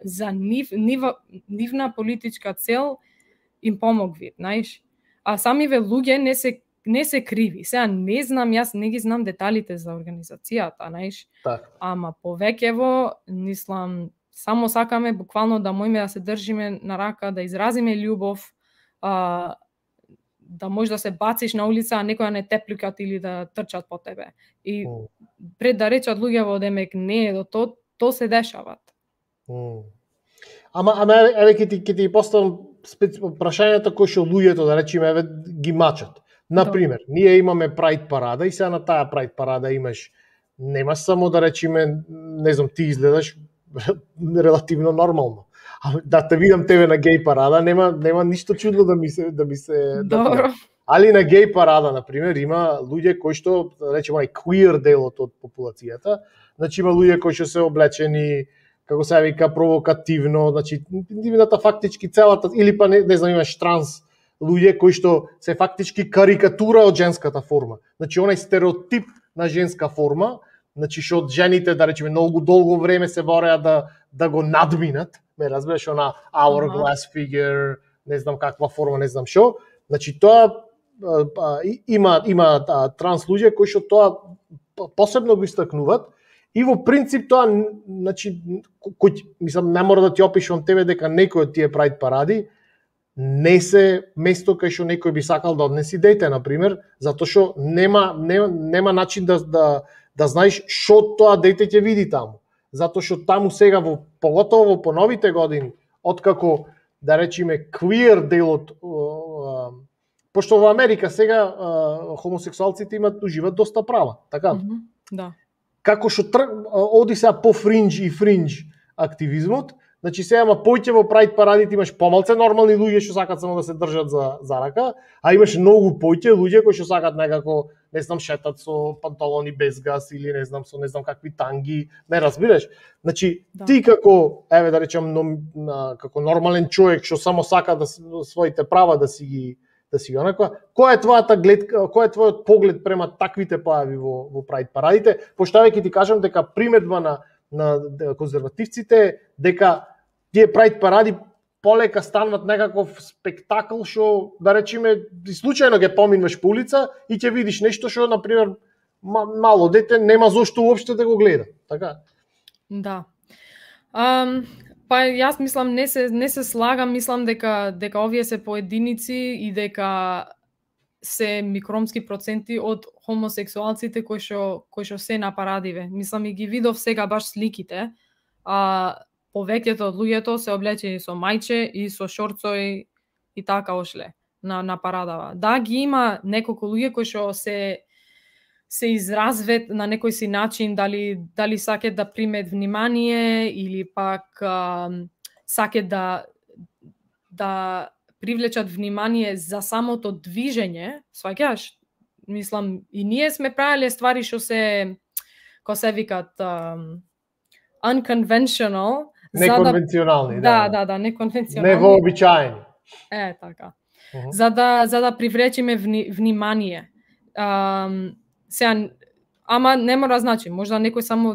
за нивна политичка цел им помогви, знаеш. А самиве луѓе не се криви. Сега не знам, јас не ги знам деталите за организацијата, знаеш. Ама повеќево, мислам, само сакаме буквално да можеме да се држиме на рака, да изразиме љубов, да можеш да се бациш на улица, а некоја не те плюкат или да трчат по тебе. И пред да речат луѓето демек не е до то се дешават. Ама еве ќе ти поставам прашањата кои што луѓето, да речеме, еве ги мачат. Например, ние имаме Pride парада и сега на таа Pride парада немаш само да речеме, не знам, ти изгледаш релативно нормално. Да те видам тебе на геј парада, нема ништо чудно да ми се Добро. Али на геј парада, например, има луѓе кои што, да речеме, queer делот од популацијата, значи има луѓе кои што се облечени, како се вика, провокативно, значи нивната фактички целата, или па не знам, имаш транс луѓе кои што се фактички карикатура од женската форма. Значи онај стереотип на женска форма, значи што од жените, да речеме, многу долго време се бореа да го надминат, ме разбираш, она hourglass figure, не знам каква форма, не знам што. Значи тоа има транс луѓе кои што тоа посебно го истакнуваат и во принцип тоа, значи, мислам, не мора да ти опишувам тебе дека некој од тие Pride паради не се место кај што некој би сакал да однеси дете, например, затоа што нема начин да знаеш што тоа дете ќе види таму. Затоа што таму сега, поготово во поновите години, откако, да речеме, queer делот, пошто во Америка сега хомосексуалците уживаат доста права, така? Да. Како што оди сега по фриндж и фриндж активизмот, значи сега има поќе Pride парадите, имаш помалце нормални луѓе што сакаат само да се држат за рака, а имаш многу поќе луѓе кои што сакаат некако, не знам, шетат со панталони без газ или не знам какви танги, не разбираш. Значи ти како, еве да речем, како нормален човек што само сака да своите права да си ги онаква, која е твојата гледка, кој е твојот поглед према таквите појави во Pride парадите? Пошто ќе ти кажам дека приметба на конзервативците дека тие Pride паради полека станат некаков спектакл што, да речеме, случајно ќе поминуваш по улица и ќе видиш нешто што, например, мало дете нема зошто уопште да го гледа, така? Да. Па јас мислам не се слагам, мислам дека овие се поединици и дека се микромски проценти од хомосексуалците кои што се на парадиве. Мислам и ги видов сега баш сликите, повеќето од луѓето се облечени со мајче и со шорцови и така ошле. на парадава. Да, ги има неколку луѓе кои што се изразвет на некој си начин, дали сакат да примет внимание или пак сакат да привлечат внимание за самото движење, сваќаш? Мислам, и ние сме правеле ствари што се, ко се викат, unconventional. Неконвенционални, да, неконвенционални. Невообичаени. Така. За да привлечеме внимание. Сега, ама не мора значи, можда некој само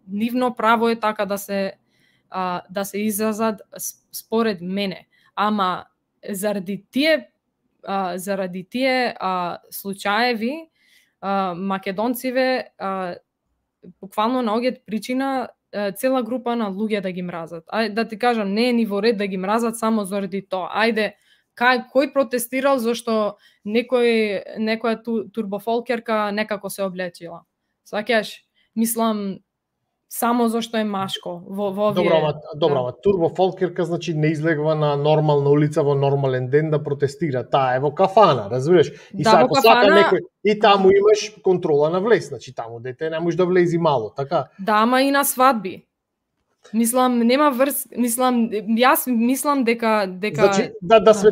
нивно право е така да се изразат според мене. Ама заради тие случаеви македонциве буквално наоѓаат причина цела група на луѓе да ги мразат. Да ти кажам, не е ни во ред да ги мразат само заради тоа. Ајде, кој протестирал зашто некоја турбофолкерка некако се облечила? Сваќаш, мислам, само зашто е машко во овие... Добро, ама турбофолкерка значи не излегва на нормална улица во нормален ден да протестира. Таа е во кафана, разбираш? И да, ако сака некој, и таму имаш контрола на влез, значи таму дете не можеш да влези мало, така? Да, ама и на свадби. Мислам, нема јас мислам дека Значи, да сме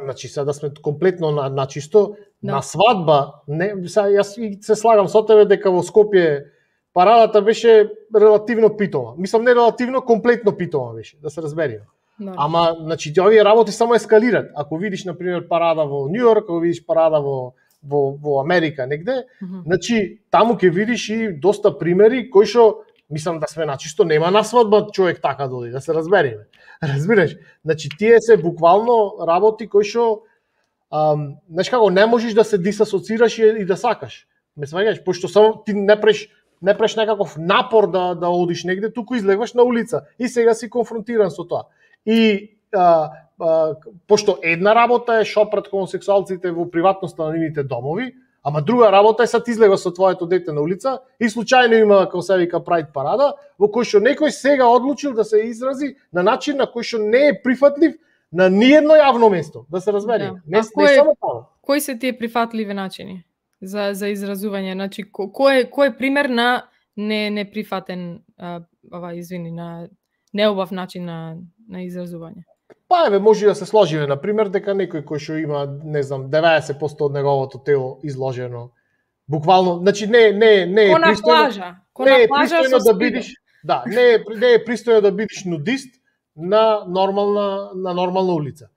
значи да сме комплетно на чисто, на свадба, не, јас се слагам со тебе дека во Скопје парадата беше релативно питома. Мислам, не релативно, комплетно питома беше, да се разбериме. Да. Ама, значи, овие работи само ескалират. Ако видиш, например, парада во Нью Йорк, ако видиш парада во Америка негде, значи, таму ќе видиш и доста примери кои што, мислам да сме начисто, нема на свадба човек така доди, да се разбериме. Разбираш? Значи, тие се буквално работи кои што, знаеш како, не можеш да се дисасоцираш и да сакаш. Ме сваѓаш, пошто само ти не преш некаков напор да одиш негде, туку излегваш на улица и сега си конфронтиран со тоа. И пошто една работа е шопрат хомосексуалците во приватноста на нивните домови, ама друга работа е сад излега со твоето дете на улица и случајно има, како се вика, Прайд парада, во кој што некој сега одлучил да се изрази на начин на кој што не е прифатлив на ниедно јавно место, да се разбере. Не само таму. Кои се тие прифатливи начини за изразување? Значи, кој е пример на неприфатен, на неубав начин на изразување? Па еве, може да се сложиме, например, дека некој кој што има, не знам, 90% од неговото тело изложено, буквално, значи не е пристойно. Не е пристојно да бидеш, да, не е пристојно да бидеш нудист на нормална улица.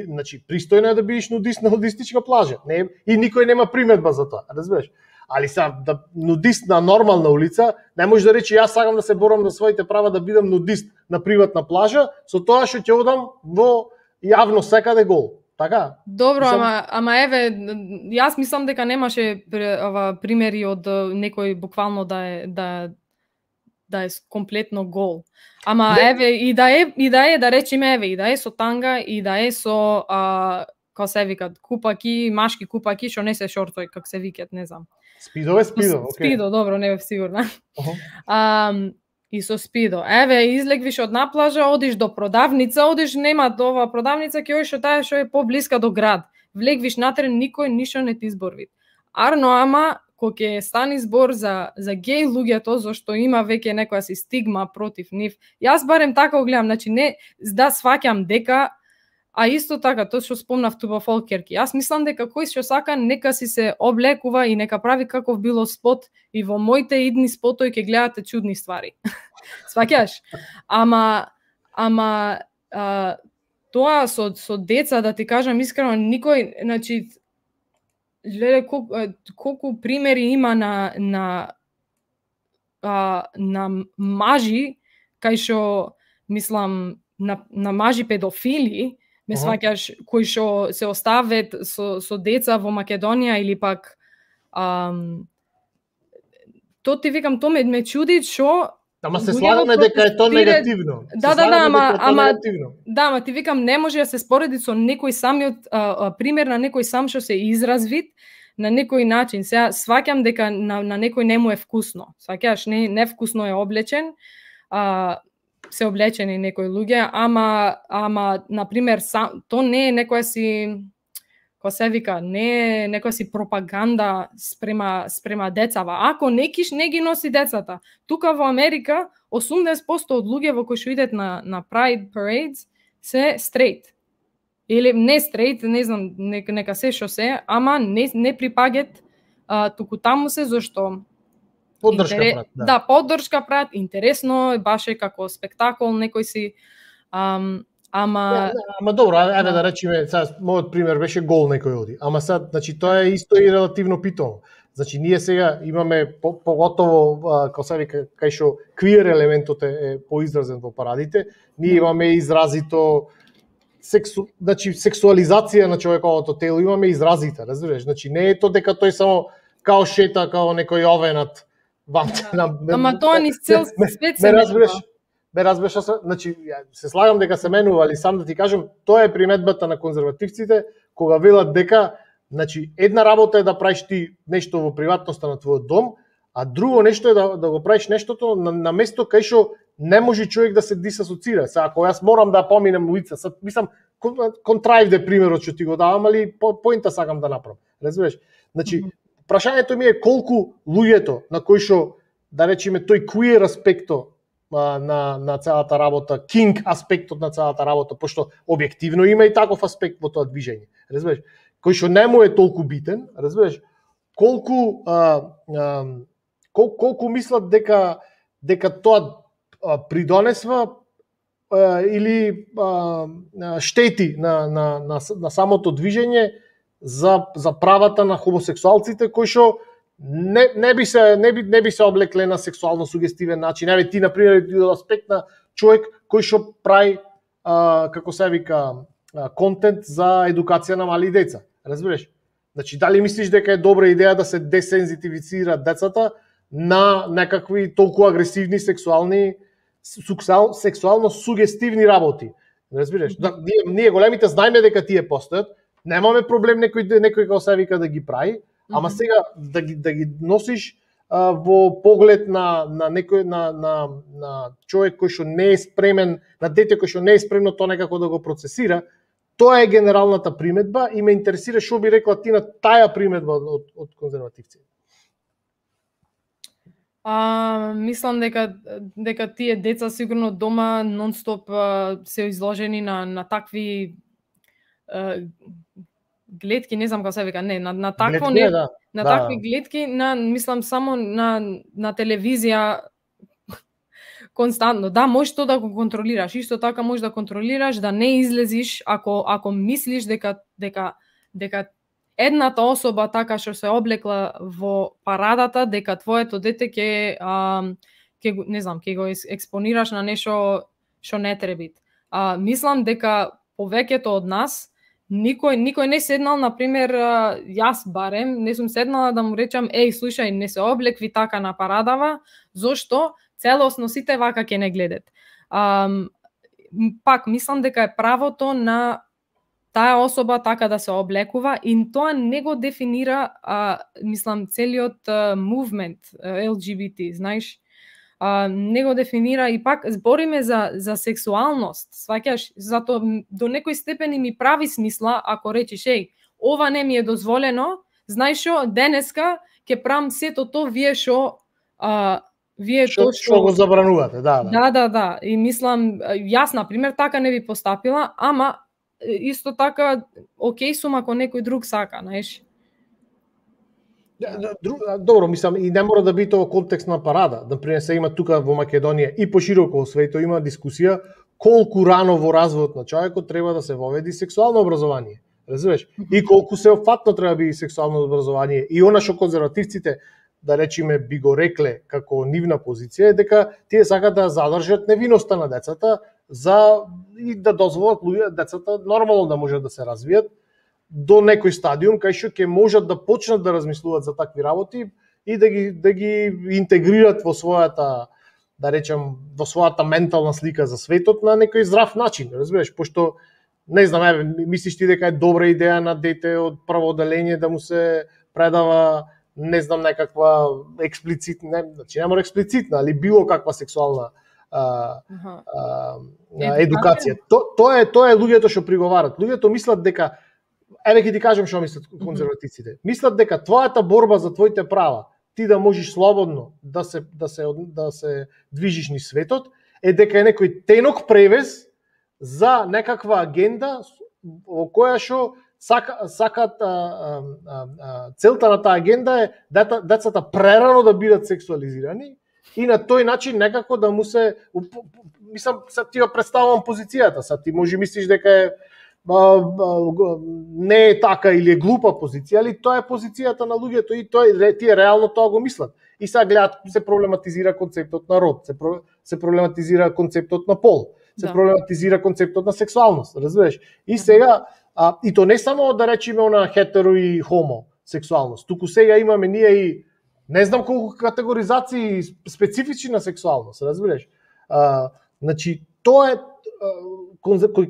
Значи, пристојно е да бидеш нудист на нудистичка плажа. Не, и никој нема приметба за тоа, разбираш? Али да нудист на нормална улица, не може да рече јас сакам да се борам за своите права да бидам нудист на приватна плажа, со тоа што ќе одам во јавно секаде гол. Така? Добро, ама еве, јас мислам дека немаше примери од некој буквално да е комплетно гол. Ама еве, и да е, да речеме, еве, и да е со танга, и да е со како се викат, купаки, машки купаки, што не се шортови, како се викат, не знам. Спидо, окей. Спидо, добро, не бев сигурна. И со спидо. Еве, излегвиш од на плажа, одиш до продавница, нема ова продавница, ќе одиш таа што е поблиска до град. Влегвиш натре, никој ништо не ти изборви. Арно, ама, кога ќе стани збор за геј луѓето, зашто има веќе некоја си стигма против нив, јас барем така го гледам, значи не да сваќам дека, а исто така, тоа што спомнав турбофолкерки, јас мислам дека кој што сака, нека си се облекува и нека прави каков било спот, и во моите идни спотови ќе гледате чудни ствари. Сваќаш? Ама тоа со деца, да ти кажам искрено, никој, значи, гледа колку примери има на мажи, кај што, мислам, на мажи педофили, ме сваќаш, кои што се остават со деца во Македонија или пак тоа ти викам, тоа ме чуди што. Ама се слагаме дека е тоа негативно. Ама ти викам, не може да се спореди со некој самиот пример на некој сам што се изразвит на некој начин. Сега сваќам дека на некој не му е вкусно. Сваќаш, не вкусно е облечен. се облечени некои луѓе, ама на пример то не е некоја си кој се вика, не е некоја си пропаганда спрема децава. Ако некиш не ги носи децата, тука во Америка 80% од луѓе во кои што идат на Pride Parades се straight. Или не straight, не знам, нека се што се, ама не припагат туку таму се зашто поддршка прат. Да, поддршка прат, интересно, баш е како спектакол, некој си ама добро, ајде да речеме, сега мојот пример беше гол некој оди. Ама сега, значи тоа е исто и релативно питано. Значи ние сега имаме поготово како се вика кај што квир елементот е поизразен во парадите, ние имаме изразито значи сексуализација на човековото тело, имаме изразите, разбираш? Значи не е тоа дека тој само као шета као некој овенат Ама тоа ни цел свет се разбираш, значи се слагам дека се менува, али сам да ти кажам, тоа е приметбата на конзервативците кога велат дека значи една работа е да правиш ти нешто во приватноста на твојот дом, а друго нешто е да го правиш нештото на место кај што не може човек да се дисасоцира. Сега ако јас морам да поминам улица, мислам контраивде примерот што ти го давам, али поинта сакам да направам. Разбираш? Значи прашањето ми е колку луѓето на кои што да речеме тој queer аспектот на целата работа, king аспектот на целата работа, пошто објективно има и таков аспект во тоа движење. Разбираш? Кој што не му е толку битен, разбираш? Колку мислат дека тоа придонесва или штети на самото движење за правата на хомосексуалците кои што не би се облекле на сексуално сугестивен начин. Еве ти на пример од аспект на човек кој што прави како се вика контент за едукација на мали деца. Разбираш? Значи дали мислиш дека е добра идеја да се десензитивицираат децата на некакви толку агресивни сексуално сугестивни работи? Разбираш? Ние големите знаеме дека тие постојат, немаме проблем некој како се вика да ги прави, ама сега да ги носиш во поглед на некој на човек кој што не е спремен, на дете кој што не е спремно тоа некако да го процесира, тоа е генералната приметба и ме интересира што би рекла ти на таа приметба од конзервативци. Мислам дека тие деца сигурно дома нон-стоп се изложени на такви гледки, не знам како се вика, не, на такво гледки, не, на такви гледки, мислам само на телевизија константно. Да, можеш тоа да го контролираш, исто така можеш да контролираш да не излезиш ако мислиш дека едната особа така што се облекла во парадата, дека твоето дете ќе не знам, ќе го експонираш на нешто што не треба. Мислам дека повеќето од нас никој не седнал, на пример, јас барем, не сум седнала да му речам, слушај, не се облекви така на парадава, зошто целосно сите вака ќе не гледат. Пак, мислам дека е правото на таа особа така да се облекува и тоа не го дефинира, мислам, целиот movement LGBT, знаеш? Не го дефинира и пак збориме за сексуалност, сваќаш, затоа до некој степен ми прави смисла ако речиш, ова не ми е дозволено, знаеш што, денеска ќе правам сето тоа вие што го забранувате, да. Да, и мислам, јас на пример така не би постапила, ама исто така окей сум ако некој друг сака, знаеш. Добро, мислам, и не мора да биде во контекст на парада. Например, се има тука во Македонија и пошироко во светот има дискусија колку рано во развојот на човекот треба да се воведи сексуално образование. Разбираш? И колку сеопфатно треба да биде сексуално образование. И она што конзервативците, да речеме, би го рекле како нивна позиција е дека тие сакаат да задржат невиноста на децата и да дозволат децата нормално да можат да се развијат до некој стадиум кај што ќе можат да почнат да размислуваат за такви работи и да ги интегрират во својата, да речем, во својата ментална слика за светот на некој здрав начин, разбираш, пошто не знам, мислиш ти дека е добра идеја на дете од прво оделение да му се предава, не знам, некаква експлицитна, значи не мора експлицитна, али било каква сексуална едукација. Тоа е луѓето што приговарат. Луѓето мислат дека, еве ќе ти кажам што мислат конзервативците. Мислат дека твојата борба за твоите права, ти да можеш слободно да се движиш низ светот, е дека е некој тенок превез за некаква агенда во која што сакат целта на таа агенда е децата прерано да бидат сексуализирани и на тој начин некако да му се, мислам, ти ја представувам позицијата, ти може мислиш дека е не е така или е глупа позиција, али тоа е позицијата на луѓето и тие реално тоа го мислат. И сега гледат, се проблематизира концептот на род, се проблематизира концептот на пол, се проблематизира концептот на сексуалност, разбираш? И сега, и то не само да речеме на хетеро и хомо сексуалност, туку сега имаме ние и не знам колку категоризации специфични на сексуалност, разбираш? Значи, тоа е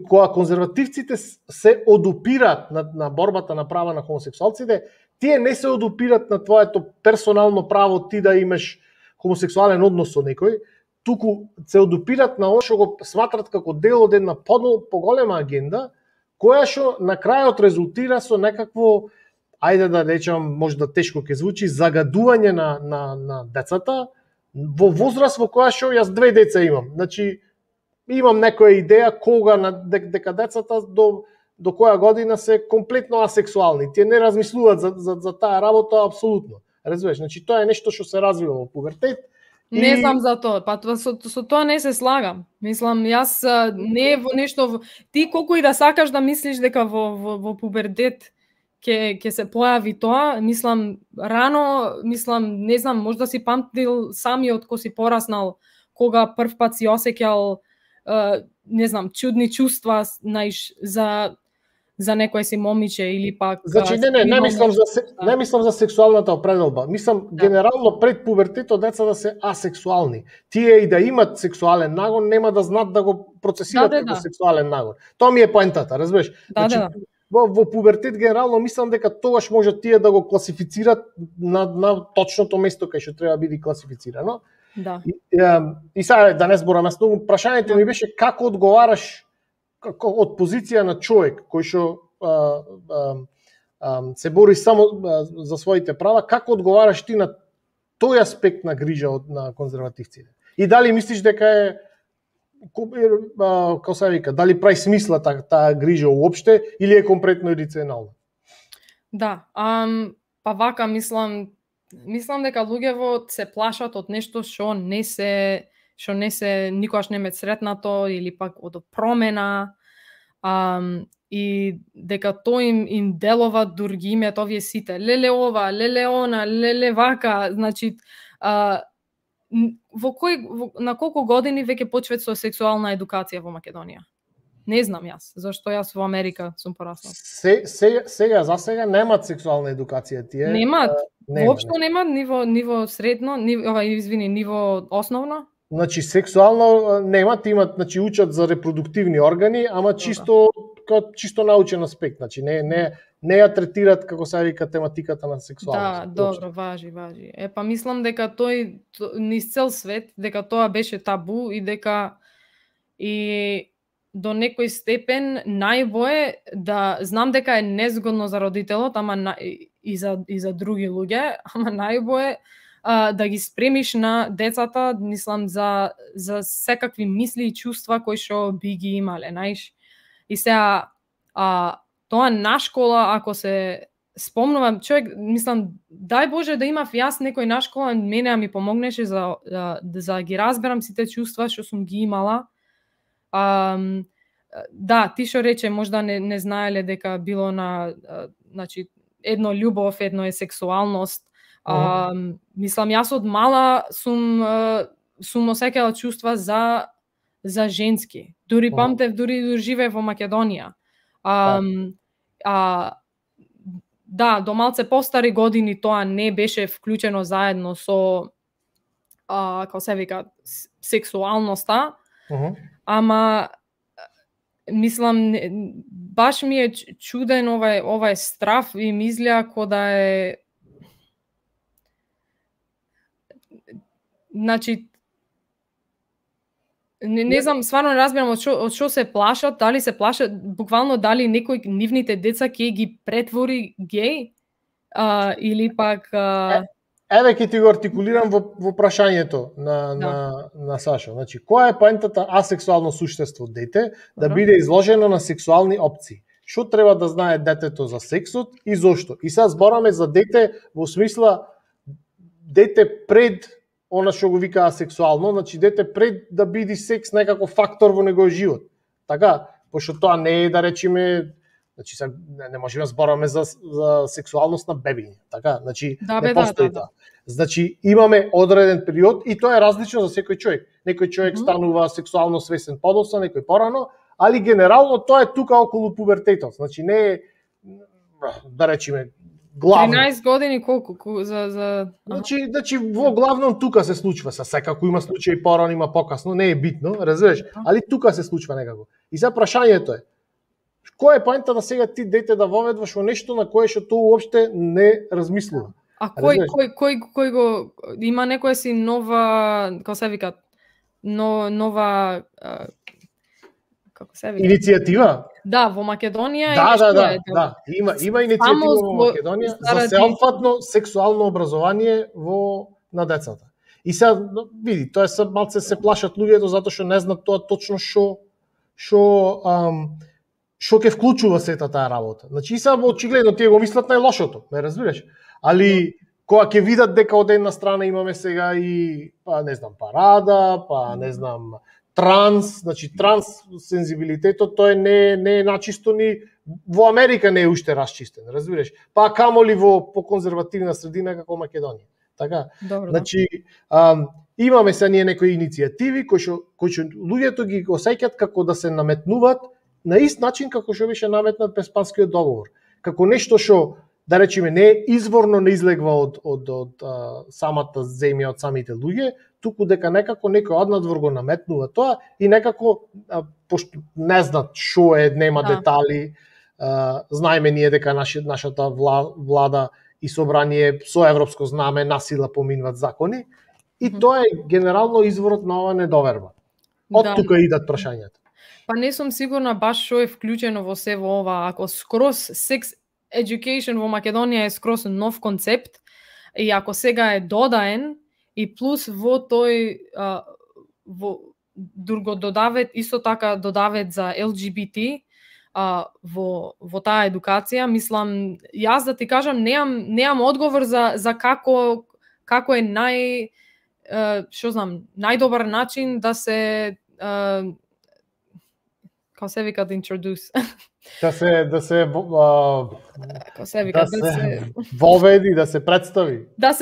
кога конзервативците се одупираат на борбата на права на хомосексуалците, тие не се одупираат на твоето персонално право ти да имаш хомосексуален однос со некој, туку се одупираат на што го сматрат како дел од една поголема агенда, која што на крајот резултира со некакво, ајде да речам, може да тешко ќе звучи, загадување на децата во возраст во која што јас 2 деца имам. Значи, имам некоја идеја кога дека децата до која година се комплетно асексуални. Тие не размислуваат за таа работа апсолутно. Разбираш, значи тоа е нешто што се развива во пубертет. Не знам за тоа, па со тоа не се слагам. Мислам, јас не е во нешто, ти колку и да сакаш да мислиш дека во пубертет ќе се појави тоа, мислам, рано, мислам, не знам, можда си памтил самиот кој си пораснал, кога прв пат си осеќал не знам, чудни чувства за некој си момиче или пак... Значи, не мислам за сексуалната определба. Мислам, генерално пред пубертетот децата се асексуални. Тие и да имат сексуален нагон, нема да знаат да го процесират како сексуален нагон. Тоа ми е поентата, разбираш? Во пубертет генерално мислам дека тогаш може тие да го класифицират на точното место кај што треба биде класифицирано. Да. И сега да не зборам, прашањето ми беше како одговараш од позиција на човек кој што се бори само за своите права, како одговараш ти на тој аспект на грижа на конзервативците? И дали мислиш дека е, како се вика, дали прави смисла таа грижа уопште или е компретно иррационална? Да, па вака мислам дека луѓето се плашат од нешто што не се никогаш не ме сретнато или пак од промена, и дека тоа им делува дур ги имеат овие сите леле ова, леле она, леле вака, значи на колку години веќе почват со сексуална едукација во Македонија? Не знам јас, зашто јас во Америка сум пораснал. Сега за сега немаат сексуална едукација тие. Немаат. Воопшто немаат ниво средно, ниво основно. Значи сексуално немаат, имат, значи учат за репродуктивни органи, ама чисто научен аспект, значи не ја третираат како се вика тематиката на сексуалност. Да, добро, важи. Па мислам дека тој низ цел свет дека тоа беше табу и дека и до некој степен најбое да знам дека е незгодно за родителот, ама и за други луѓе, ама најбое да ги спремиш на децата, мислам, за секакви мисли и чувства кои што би ги имале, знаеш. И сега тоа на школа, ако се спомнувам, човек, мислам, дај Боже да имав јас некој на школа, мене ми помогнеше за ги разберам сите чувства што сум ги имала. Да, ти што рече, можда не знаеле дека било значи, едно љубов, едно е сексуалност. Мислам, јас од мала сум осеќала чувства за женски. Дури памтев, дури живеев во Македонија. Да, до малце постари години тоа не беше вклучено заедно со како се вика сексуалноста. Ама мислам, баш ми е чуден овај страф и ми изгледа ко да е, значи Не знам, стварно не разбирам од што се плашат, дали се плашат, буквално дали некој нивните деца ќе ги претвори геј, или пак... Еве ќе ти го артикулирам во прашањето на Сашо. Значи, која е поентата асексуално суштество дете да биде изложено на сексуални опции? Што треба да знае детето за сексот и зошто? И сега збораме за дете во смисла дете пред она што го вика асексуално, значи дете пред да биде секс некако фактор во неговиот живот. Така, пошто тоа не е, да речеме, значи не можеме да збораме за сексуалност на бебиња, така? Значи не постои тоа. Значи имаме одреден период и тоа е различно за секој човек. Некој човек станува сексуално свесен подоцна, некој порано, али генерално тоа е тука околу пубертетот. Значи не е, да речеме, главно. 13 години колку за Значи во главном тука се случва, секако има случаи порано, има покасно, не е битно, разбираш, али тука се случва некако. И сега прашањето е, кој е поента да сега ти дете да воведваш во нешто на кое што тоа уопште не размислува? А кој го има некоја си нова, како се вика, нова како се вика? Иницијатива? Да, во Македонија има иницијатива во Македонија за сеопфатно сексуално образование на децата. И сега види, тоа се малце се плашат луѓето затоа што не знаат тоа точно што ќе вклучува сета таа работа. Значи и сега очигледно тие го мислат најлошото, ме разбираш? Али кога ќе видат дека од една страна имаме сега и не знам парада, не знам транс, значи транс сензибилитетот тој не е начисто ни во Америка не е уште расчистен, разбираш? Па камоли во поконзервативна средина како Македонија. Така? Добро, значи имаме се ние некои иницијативи кои што луѓето ги осеќаат како да се наметнуваат на ист начин како што беше наметнат Преспанскиот договор. Како нешто што да речеме не е изворно не излегва од самата земја, од самите луѓе, туку дека некако некој однадвор го наметнува тоа и некако пошто не знаат што е, нема детали, знаеме ние дека нашата влада и собрание со европско знаме насила поминуваат закони и тоа е генерално изворот на ова недоверба. Од тука идат прашањата. Па не сум сигурна баш што е вклучено во се во ова, ако скроз sex education во Македонија е скроз нов концепт и ако сега е додаен и плюс во тој друго додавет, исто така додавет за LGBT во таа едукација, мислам, јас да ти кажам, неам одговор за како е најдобар начин да се како се вика да introduce. Да се воведи, да се представи. Да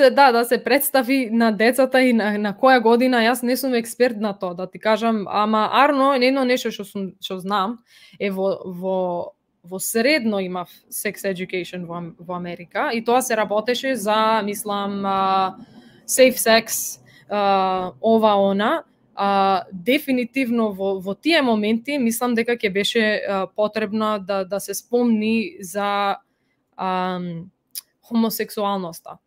се представи на децата и на која година. Јас не сум експерт на тоа, да ти кажам, ама Арно, едно нешто што знам е во средно имав sex education во Америка и тоа се работеше за, мислам, safe sex, ова она. Дефинитивно во тие моменти мислам дека ќе беше потребно да се спомни за хомосексуалноста.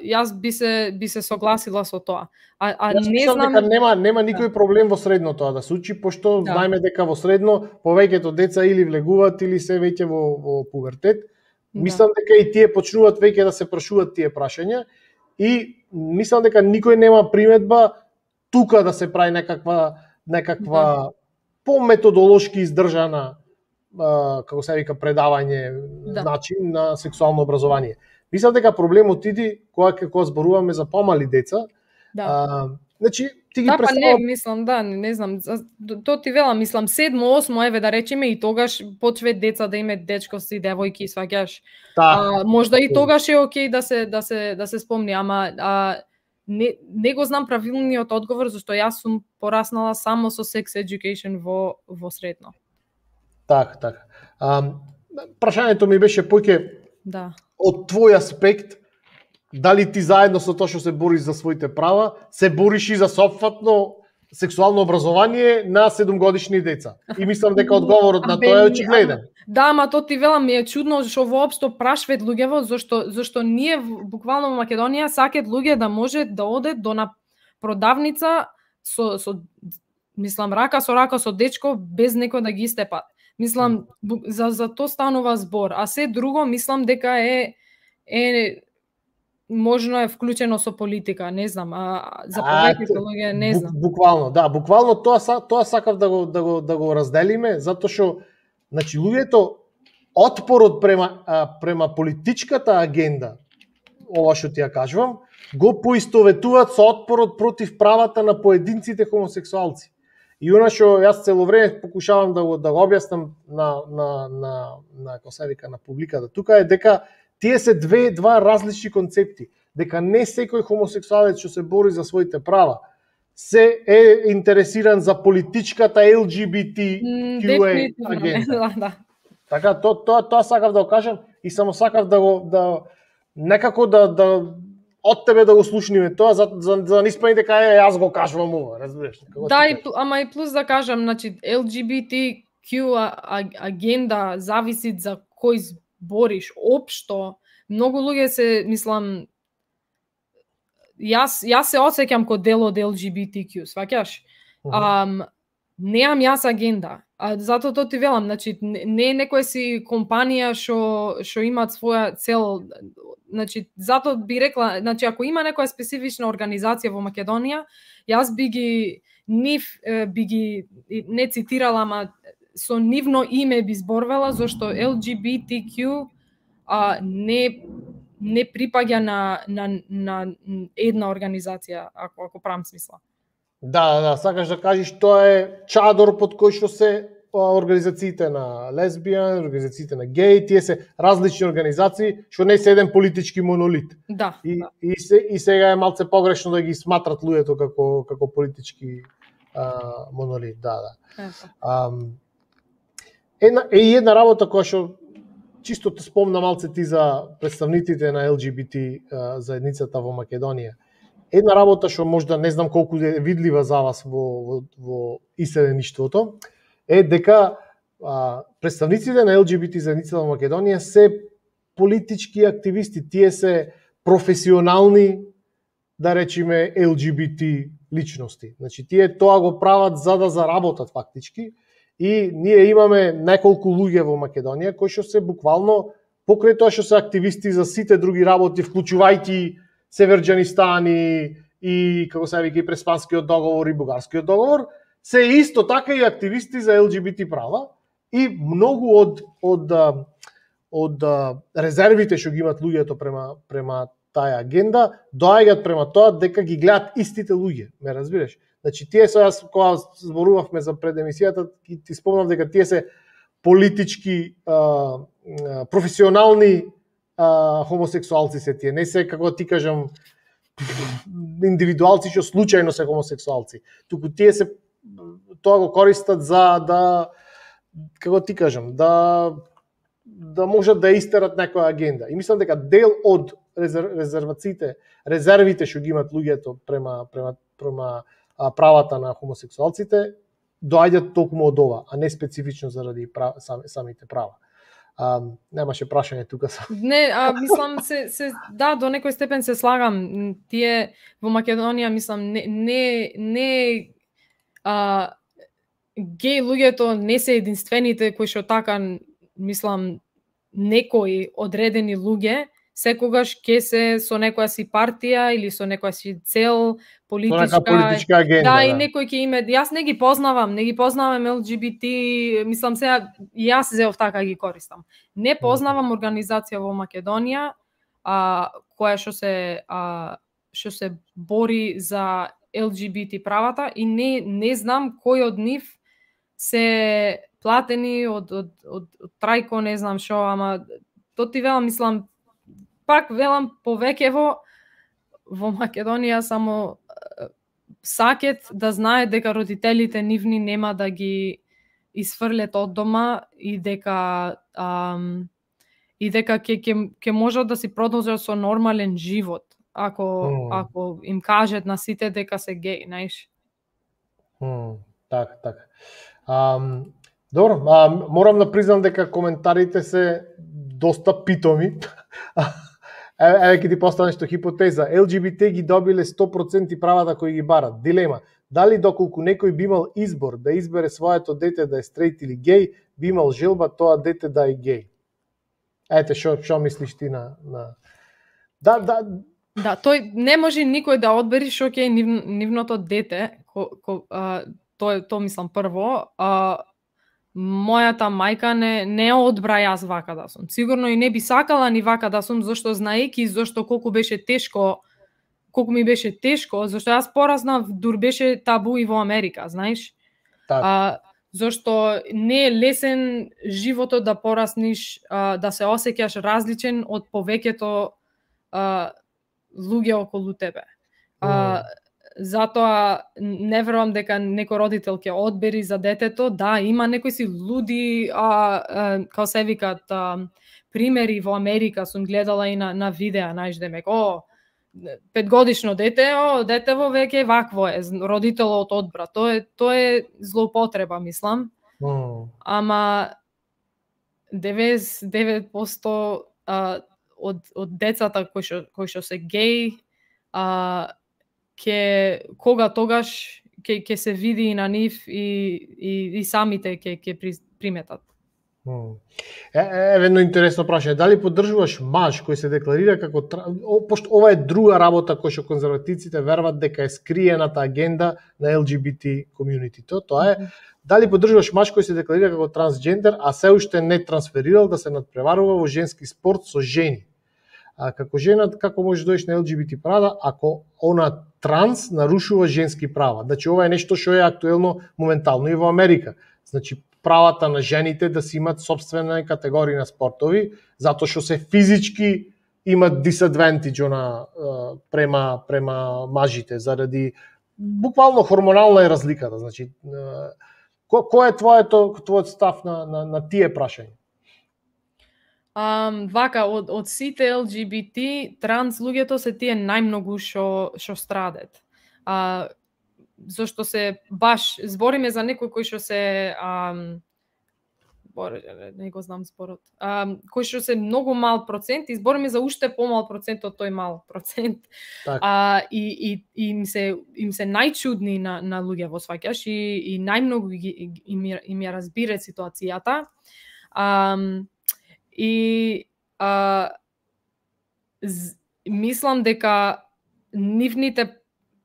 Јас би се согласила со тоа. Не знам дека нема никој проблем во средно тоа да се учи, пошто знаеме дека во средно повеќето деца или влегуваат или се веќе во пубертет. Мислам дека и тие почнуваат веќе да се прашуваат тие прашања и мислам дека никој нема приметба тука да се прави некаква по-методолошки издржана како се вика предавање начин на сексуално образование. Мислам дека проблемот иди кога зборуваме за помали деца. Значи ти ги представувам... мислам, не знам, тоа ти велам, мислам 7-8 еве да речеме и тогаш почве деца да имаат дечковци, девојки, сваќаш. Можда и тогаш е окей да се спомни, ама не го знам правилниот одговор, зашто јас сум пораснала само со sex education во средно. Така. Прашањето ми беше поќе од твој аспект, дали ти заедно со тоа што се бориш за своите права, се бориш и за сопфатно сексуално образование на 7-годишни деца. И мислам дека одговорот на тоа е очигледен. Да, ама тоа ти велам, ми е чудно што воопшто прашваат луѓево, зашто ние буквално во Македонија сакаат луѓе да може да оде до на продавница со мислам, рака со дечко без некој да ги степат. Мислам, за то станува збор. А се друго, мислам дека е можно е вклучено со политика, не знам, за повеќето луѓе не знам. Буквално тоа сакав да го разделиме, затоа што значи луѓето отпорот према политичката агенда, ова што ти ја кажувам, го поистоветуваат со отпорот против правата на поединците хомосексуалци. И она што јас цело време покушавам да го објаснам на како се вика на публиката тука е дека тие се два различни концепти, дека не секој хомосексуалец што се бори за своите права се е интересиран за политичката LGBTQA агенда. Така тоа сакав да го кажам и само сакав да некако да од тебе да го слушниме тоа за да не испади дека јас го кажувам ова, разбираш? Да, ама и плюс да кажам, значи LGBTQ агенда зависи за кој бориш општо. Многу луѓе се, мислам, јас се осеќам ко дел од LGBTQ, сваќаш? Неам јас агенда. Затоа тоа ти велам, значи не е некоја си компанија што имаат своја цел. Значи затоа би рекла, значи ако има некоја специфична организација во Македонија, јас би ги не цитирала, ама со нивно име би зборвала, зашто LGBTQ не припаѓа на една организација, ако правам смисла. Да, сакаш да кажеш тоа е чадор под кој што се организациите на лесбијан, организациите на геј, тие се различни организации што не се еден политички монолит. Да. И сега е малце погрешно да ги сматрат луѓето како политички монолит, да. Една работа која што чисто те спомна малце ти за представниците на LGBT заедницата во Македонија. Една работа што можда не знам колку е видлива за вас во иселеништвото е дека представниците на LGBT заедницата во Македонија се политички активисти, тие се професионални, да речеме, LGBT личности. Значи тие тоа го прават за да заработат фактички и ние имаме неколку луѓе во Македонија кои што се буквално покрај тоа што се активисти за сите други работи, вклучувајќи Северџанистан и како се вика и Преспанскиот договор и Бугарскиот договор, се исто така и активисти за LGBT права и многу од резервите што ги имат луѓето према таа агенда доаѓаат према тоа дека ги гледат истите луѓе, ме разбираш? Значи тие се, јас кога зборувавме за пред емисијата, ти спомнав дека тие се политички професионални хомосексуалци се тие, не се како ти кажам индивидуалци што случајно се хомосексуалци. Туку тие се тоа го користат за да како ти кажам, да можат да истерат некоја агенда. И мислам дека дел од резервите што ги имат луѓето према правата на хомосексуалците доаѓаат токму од ова, а не специфично заради самите права. Немаше прашање тука. Не, мислам да, до некој степен се слагам. Тие во Македонија, мислам, не геј луѓето не се единствените кои што така, мислам, некои одредени луѓе секогаш ќе се со некоја си партија или со некоја си цел политичка агенда. Да, и некој ќе име, јас не ги познавам LGBT, мислам сега јас зеов така ги користам. Не познавам организација во Македонија која што се бори за LGBT правата и не знам кој од нив се платени од Трајко, не знам што, ама то ти велам, мислам, пак велам повеќево во Македонија само сакет да знае дека родителите нивни нема да ги исфрлет од дома и дека ќе можат да си продолжат со нормален живот ако им кажат на сите дека се геј, знаеш. Така. Добро, морам да признам дека коментарите се доста питоми. Еве ќе ти поставам нешто хипотеза. LGBT ги добиле 100% правата кои ги барат. Дилема. Дали доколку некој би имал избор да избере своето дете да е стрейт или геј, би имал желба тоа дете да е геј? Ете, што мислиш ти на... Да, тој не може никој да одбери што ќе е нивното дете, тоа мислам прво. Мојата мајка не одбра јас вака да сум. Сигурно и не би сакала ни вака да сум, зашто знаеки зашто колку ми беше тешко, зашто јас пораснав, дур беше табу и во Америка, знаеш? Зашто не е лесен животот да порасниш, да се осеќаш различен од повеќето луѓе околу тебе. Затоа не верувам дека некој родител ќе одбери за детето. Да, има некои си луди, како се викат, примери во Америка, сум гледала и на видеа, знаеш, демек, 5-годишно дете, детево веќе вакво е, родителот одбра. Тоа е злоупотреба, мислам. Ама 99% од децата кои што се геј, тогаш ќе се види и на нив и самите ќе приметат. Едно интересно прашање, дали поддржуваш маж кој се декларира како пошто ова е друга работа која што конзервативците верват дека е скриената агенда на LGBT комјунитито, тоа е дали поддржуваш маж кој се декларира како трансджендер, а се уште не трансферирал да се надпреварува во женски спорт со жени. Како жена, како можеш да дојдеш на LGBT права ако она транс нарушува женски права? Значи ова е нешто што е актуелно моментално и во Америка. Значи правата на жените да си имат собствена категорија на спортови, затоа што се физички имат disadvantage према мажите заради буквално хормонална е разликата. Значи кој е твојот став на тие прашања? Вака, од сите LGBT, транс луѓето се тие најмногу што страдат. Зашто се баш збориме за некој кој што се не го знам зборот. Кој што се многу мал процент, и збориме за уште помал процент од тој мал процент. И им се најчудни на луѓе, сваќаш, и најмногу им ја разбира ситуацијата. Мислам дека нивните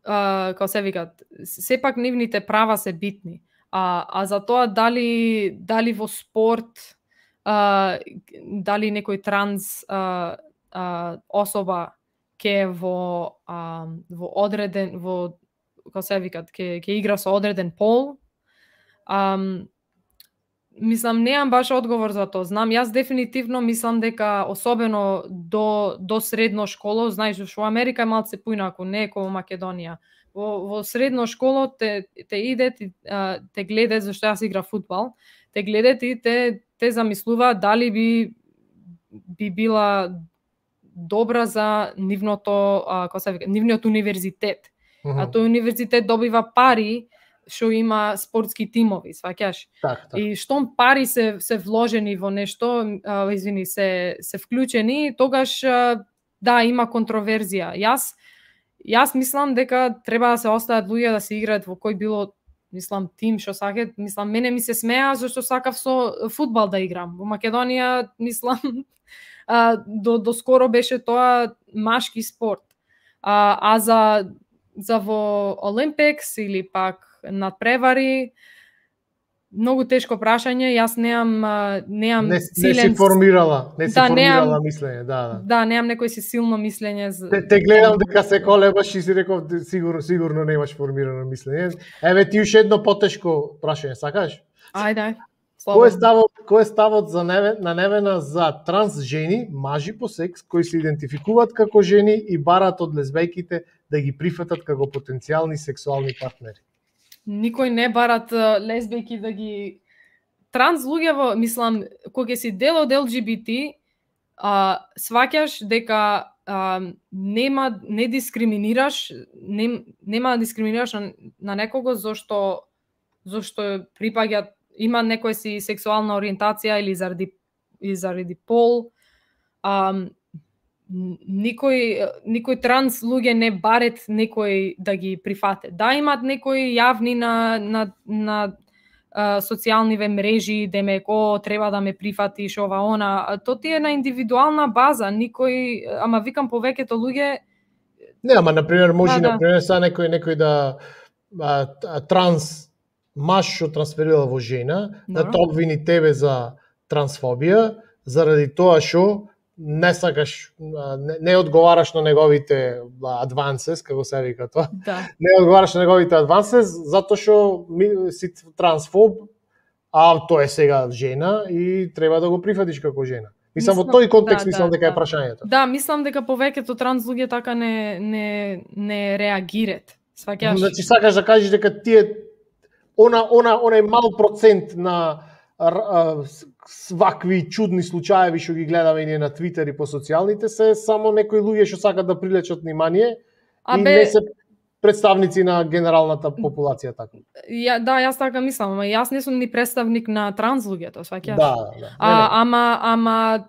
како се викат, сепак нивните права се битни. За тоа дали во спорт, дали некој транс особа ќе во одреден, како се викат, ќе игра со одреден пол, мислам, неам баш одговор за тоа. Знам, јас дефинитивно мислам дека особено до средно школо, знаеш, во Америка е малце поинаку, не е како во Македонија. Во средно школо те идет и те гледат, зашто јас игра фудбал, те гледат и те замислуваат дали би била добра за нивното, како се вика, нивниот универзитет. А тој универзитет добива пари што има спортски тимови, сваќаш? И штом пари се вложени во нешто, се вклучени, тогаш да, има контроверзија. Јас мислам дека треба да се остават луѓе да се играат во кој било, мислам, тим што сакат. Мислам, мене ми се смеа зашто сакав со фудбал да играм. Во Македонија, мислам, до скоро беше тоа машки спорт. За во Олимпикс или пак надпревари, многу тешко прашање, јас неам силен... Не си формирала мислење, Да, неам некој си силно мислење. Те гледам дека се колебаш и си реков сигурно немаш формирано мислење. Еве ти уште едно потешко прашање, сакаш? Ајде. Кој е ставот на Невена за транс жени, мажи по секс, кои се идентификуваат како жени и бараат од лесбејките да ги прифатат како потенцијални сексуални партнери? Никој не барат лесбејки да ги... Транс луѓево, мислам, кога си дел од LGBT, сваќаш дека не дискриминираш, нема да дискриминираш на некого зашто припаѓа, има некоја си сексуална ориентација или заради пол. никој транс луѓе не барет некој да ги прифате. Да, имат некои јавни на социјалниве мрежи, демек, треба да ме прифатиш, ова, она. То ти е на индивидуална база, ама викам повеќето луѓе... Не, ама, например, може, например, са некој да транс маж што трансферира во жена, да те обвини тебе за трансфобија, заради тоа што не сакаш, не одговараш на неговите advances, како се вика тоа. Да. Не одговараш на неговите advances, затоа што си трансфоб, а тоа е сега жена и треба да го прифатиш како жена. Мислам, во тој контекст мислам дека е прашањето. Да, мислам дека повеќето транс луѓе така не реагират. Сваќаш? Значи сакаш да кажеш дека тие онај мал процент на свакви чудни случаеви што ги гледаме ние на Твитер и по социјалните се само некои луѓе што сакат да привлечат внимание и не се представници на генералната популација така. Да, јас така мислам, ама јас не сум ни представник на транс луѓето, сваќаш? Да. Ама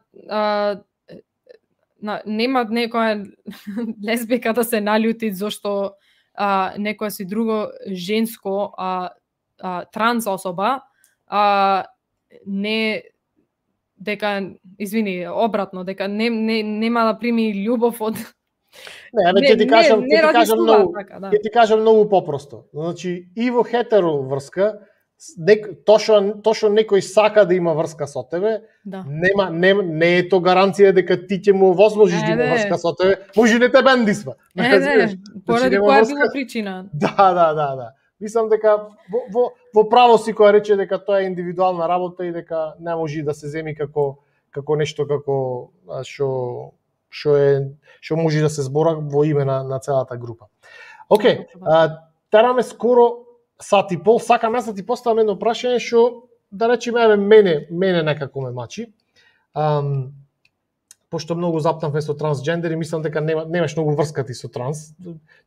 нема некоја лесбика да се налјути зашто некоја си друго женско транс особа не дека обратно дека нема да прими љубов од ќе ти кажам многу попросто. Значи и во хетеро врска тошо некој сака да има врска со тебе, не е то гаранција дека ти ќе му возможиш да има врска со тебе, може не те бендисва. Поради која била причина. Да. Мислам дека во право си која рече дека тоа е индивидуална работа и дека не може да се земи како нешто што може да се збора во име на целата група. Океј, тераме скоро сат и пол, сакам јас да ти поставам едно прашање што да речеме мене некако ме мачи. Пошто многу заптамме со трансджендери, мислам дека немаш многу врска ти со транс.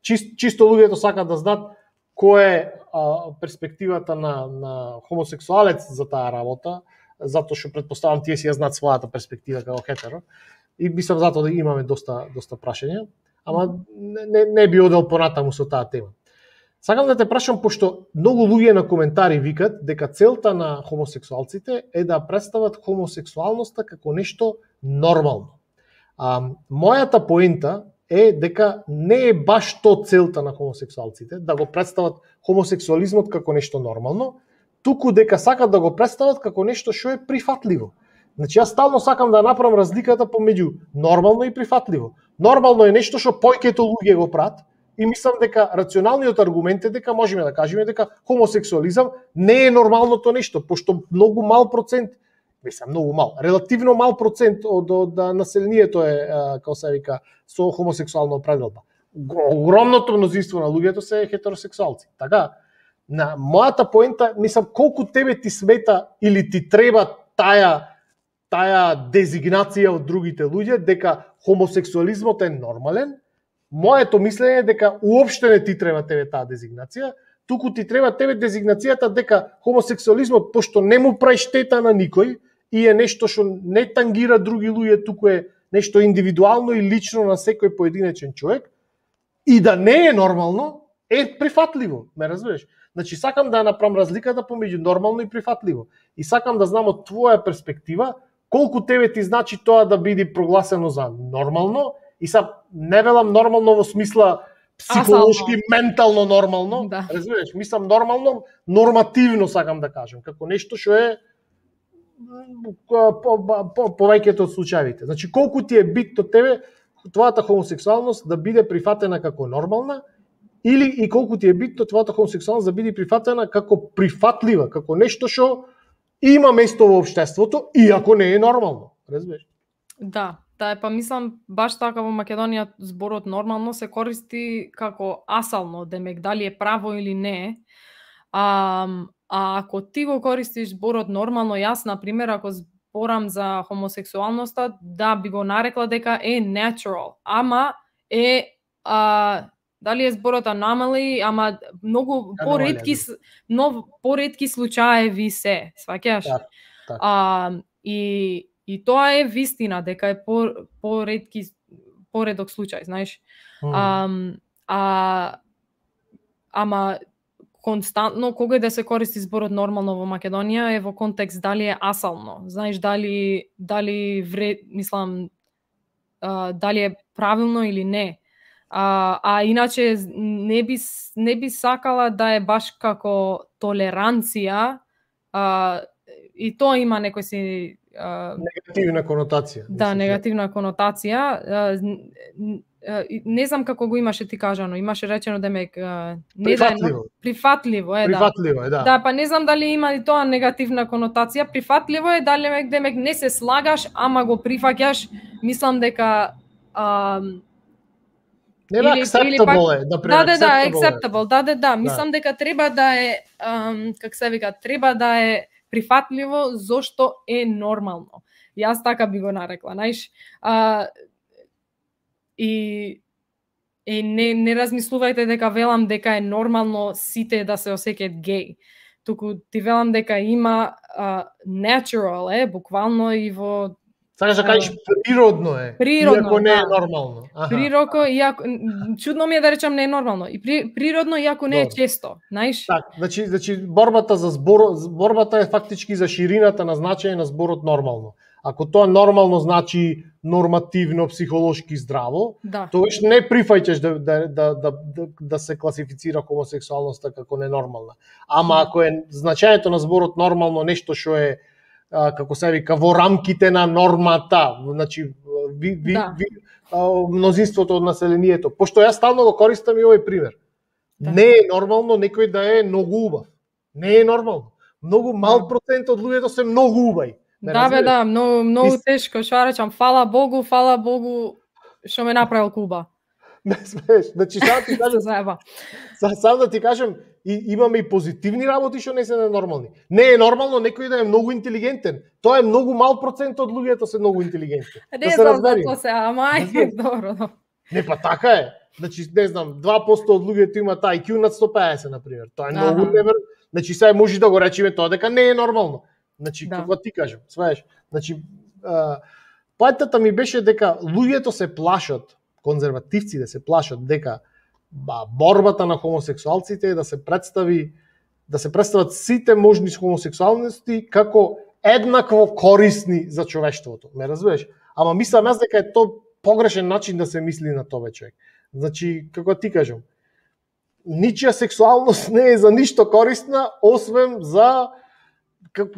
Чисто луѓето сакаат да знаат која е перспективата на хомосексуалец за таа работа, затоа што претпоставам тие си ја знаат својата перспектива како хетеро. И мислам затоа да имаме доста прашања, ама не би одел понатаму со таа тема. Сакам да те прашам, пошто многу луѓе на коментари викат дека целта на хомосексуалците е да представат хомосексуалноста како нешто нормално. Мојата поента е дека не е баш то целта на хомосексуалците, да го представат хомосексуализмот како нешто нормално, туку дека сакат да го представат како нешто што е прифатливо. Значи, јас стално сакам да направам разликата помеѓу нормално и прифатливо. Нормално е нешто што појкето луѓе го прават и мислам дека рационалниот аргумент е дека можеме да кажеме дека хомосексуализам не е нормалното нешто, пошто многу мал процент, многу мал, релативно мал процент од населението е, како се вика, со хомосексуална определба. Огромното мнозинство на луѓето се хетеросексуалци. Така, на мојата поента, мислам, колку тебе ти смета или ти треба таа дезигнација од другите луѓе дека хомосексуализмот е нормален, моето мислење е дека уопште не ти треба тебе таа дезигнација, туку ти треба тебе дезигнацијата дека хомосексуализмот, пошто не му прави штета на никој и е нешто што не тангира други луѓе, туку е нешто индивидуално и лично на секој поединечен човек, и да не е нормално, е прифатливо, ме разбираш? Значи, сакам да направам разликата помеѓу нормално и прифатливо. И сакам да знам од твоја перспектива, колку тебе ти значи тоа да биде прогласено за нормално, и са не велам нормално во смисла психолошки, ментално нормално, да. Разбираш, мислам нормално, нормативно сакам да кажам, како нешто што е повеќето од случаевите. Значи, колку ти е битно тебе твојата хомосексуалност да биде прифатена како нормална, или и колку ти е битно твојата хомосексуалност да биде прифатена како прифатлива, како нешто што има место во општеството, иако не е нормално. Разбираш? Да, па мислам баш така во Македонија зборот нормално се користи како асално, демек дали е право или не. А ако ти го користиш зборот нормално, јас на пример ако зборам за хомосексуалноста, да би го нарекла дека е natural, ама е дали е зборот anomaly, ама многу поретки случаеви се, сваќаш? Так. И тоа е вистина дека е поретки поредок случај, знаеш. Ама константно кога да се користи зборот нормално во Македонија е во контекст дали е асално, знаеш, дали мислам дали е правилно или не. Иначе не би сакала да е баш како толеранција, и тоа има некој си негативна конотација. Да, негативна конотација. Не знам како го имаше ти кажано, имаше речено демек прифатливо е, да. Да, па не знам дали има и тоа негативна конотација. Прифатливо е дали демек не се слагаш, ама го прифаќаш. Мислам дека Нема acceptable е, например. Acceptable. Да. Мислам дека треба да е, как се вика, треба да е прифатливо зошто е нормално. Јас така би го нарекла, знаеш. И не размислувајте дека велам дека е нормално сите да се осеќаат геј. Туку ти велам дека има natural е, буквално и во Сакаш да кажеш природно е, иако не е нормално. Чудно ми е да речам не е нормално. И природно, иако не е често, знаеш? Так, значи борбата е фактички за ширината на значење на зборот нормално. Ако тоа нормално значи нормативно, психолошки здраво, тогаш не прифаќаш да се класифицира хомосексуалноста како ненормална. Ама ако е значењето на зборот нормално нешто што е како се вика во рамките на нормата, значи мнозинството од населението. Пошто јас стално го користам и овој пример. Не е нормално некој да е многу убав. Не е нормално. Многу мал процент од луѓето се многу убави. Да, многу тешко, што речам, фала Богу, што ме направил Куба. Не смееш, значи сам да ти кажем, имаме и позитивни работи што не се ненормални. Не е нормално некој да е многу интелигентен. Тоа е многу мал процент од луѓето се многу интелигентни. Не знам за тоа се, ама добро. Не, па така е. Значи, не знам, 2% од луѓето имаат IQ над 150, например. Тоа е многу неверојатно. Значи, сега може да го речеме тоа дека не е нормално. Значи, како ти кажам, сваеш. Значи, поентата ми беше дека луѓето се плашат, конзервативците се плашат дека борбата на хомосексуалците е да се представат сите можни хомосексуалности како еднакво корисни за човештвото. Ме разбираш? Ама мислам јас дека е тоа погрешен начин да се мисли на тоа човек. Значи, како ти кажам, ничија сексуалност не е за ништо корисна, освен за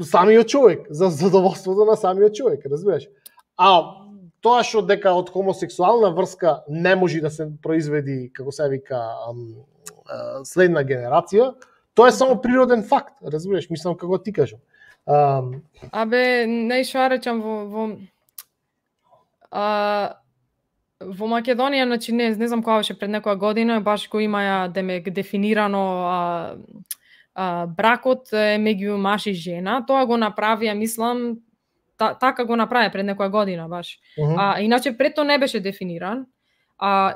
самиот човек, за задоволството на самиот човек, разбираш? Тоа што дека од хомосексуална врска не може да се произведи, како се вика, следна генерација, тоа е само природен факт, разбираш, мислам како ти кажам. Не што речам во Македонија, значи не знам кога беше пред некоја година, баш го имаја демек дефинирано бракот е меѓу маж и жена, тоа го направија, мислам, така го направи пред некоја година баш. Иначе пред тоа не беше дефиниран.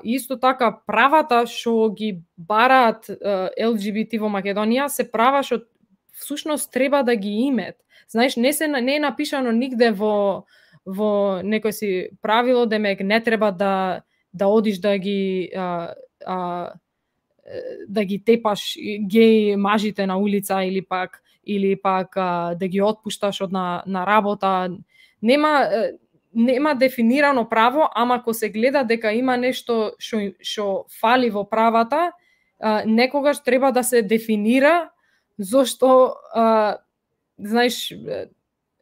Исто така правата што ги бараат ЛГБТ во Македонија се права што всушност треба да ги имат. Знаеш, не е напишано нигде во некој си правило демек не треба да одиш да ги тепаш геј мажите на улица или пак да ги отпушташ од на работа. Нема дефинирано право, ама ако се гледа дека има нешто што фали во правата, некогаш треба да се дефинира, зошто знаеш,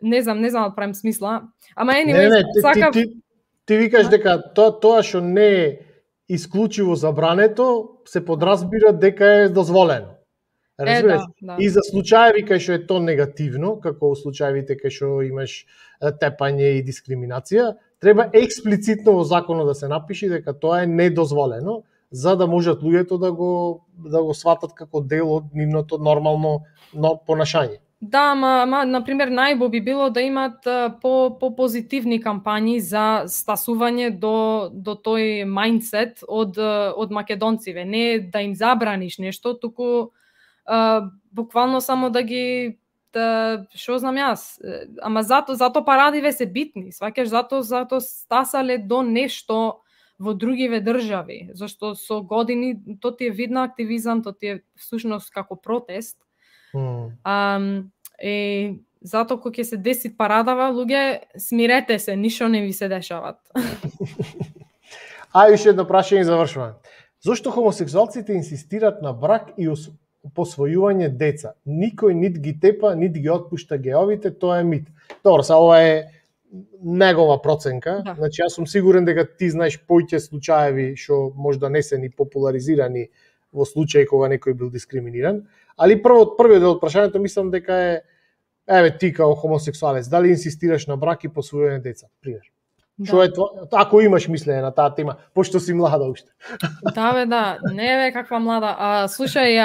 не знам да правим смисла, ама ти викаш дека тоа што не е исклучиво забрането, се подразбира дека е дозволено. Разбираш? И за случаеви кај што е тоа негативно, како случаевите кај што имаш тепање и дискриминација, треба експлицитно во законот да се напише дека тоа е недозволено, за да можат луѓето да го сватат како дел од нивното нормално понашање. Да, ама например најбо би било да имат по-позитивни кампањи за стасување до тој мајндсет од македонциве, не да им забраниш нешто, туку буквално само да ги што знам јас, ама зато парадиве се битни, сваќаш, зато стасале до нешто во другиве држави, зашто со години то ти е вид на активизам, то ти е всушност како протест. Затоа кога ќе се деси парадава, луѓе, смирете се, ништо не ви се дешават. Уште едно прашање и завршуваме. Зошто хомосексуалците инсистират на брак и посвојување деца? Никој нит ги тепа, нит ги отпушта геовите, тоа е мит. Добро, ова е негова проценка. Да. Значи, јас сум сигурен дека ти знаеш поќе случаеви што можда не се ни популаризирани во случај кога некој бил дискриминиран. Али првиот дел од прашањето мислам дека е, еве ти као хомосексуалец, дали инсистираш на брак и посвојување деца? Пример. Што е тоа? Ако имаш мислење на таа тема, пошто си млада уште. Да, не е каква млада. Слушај,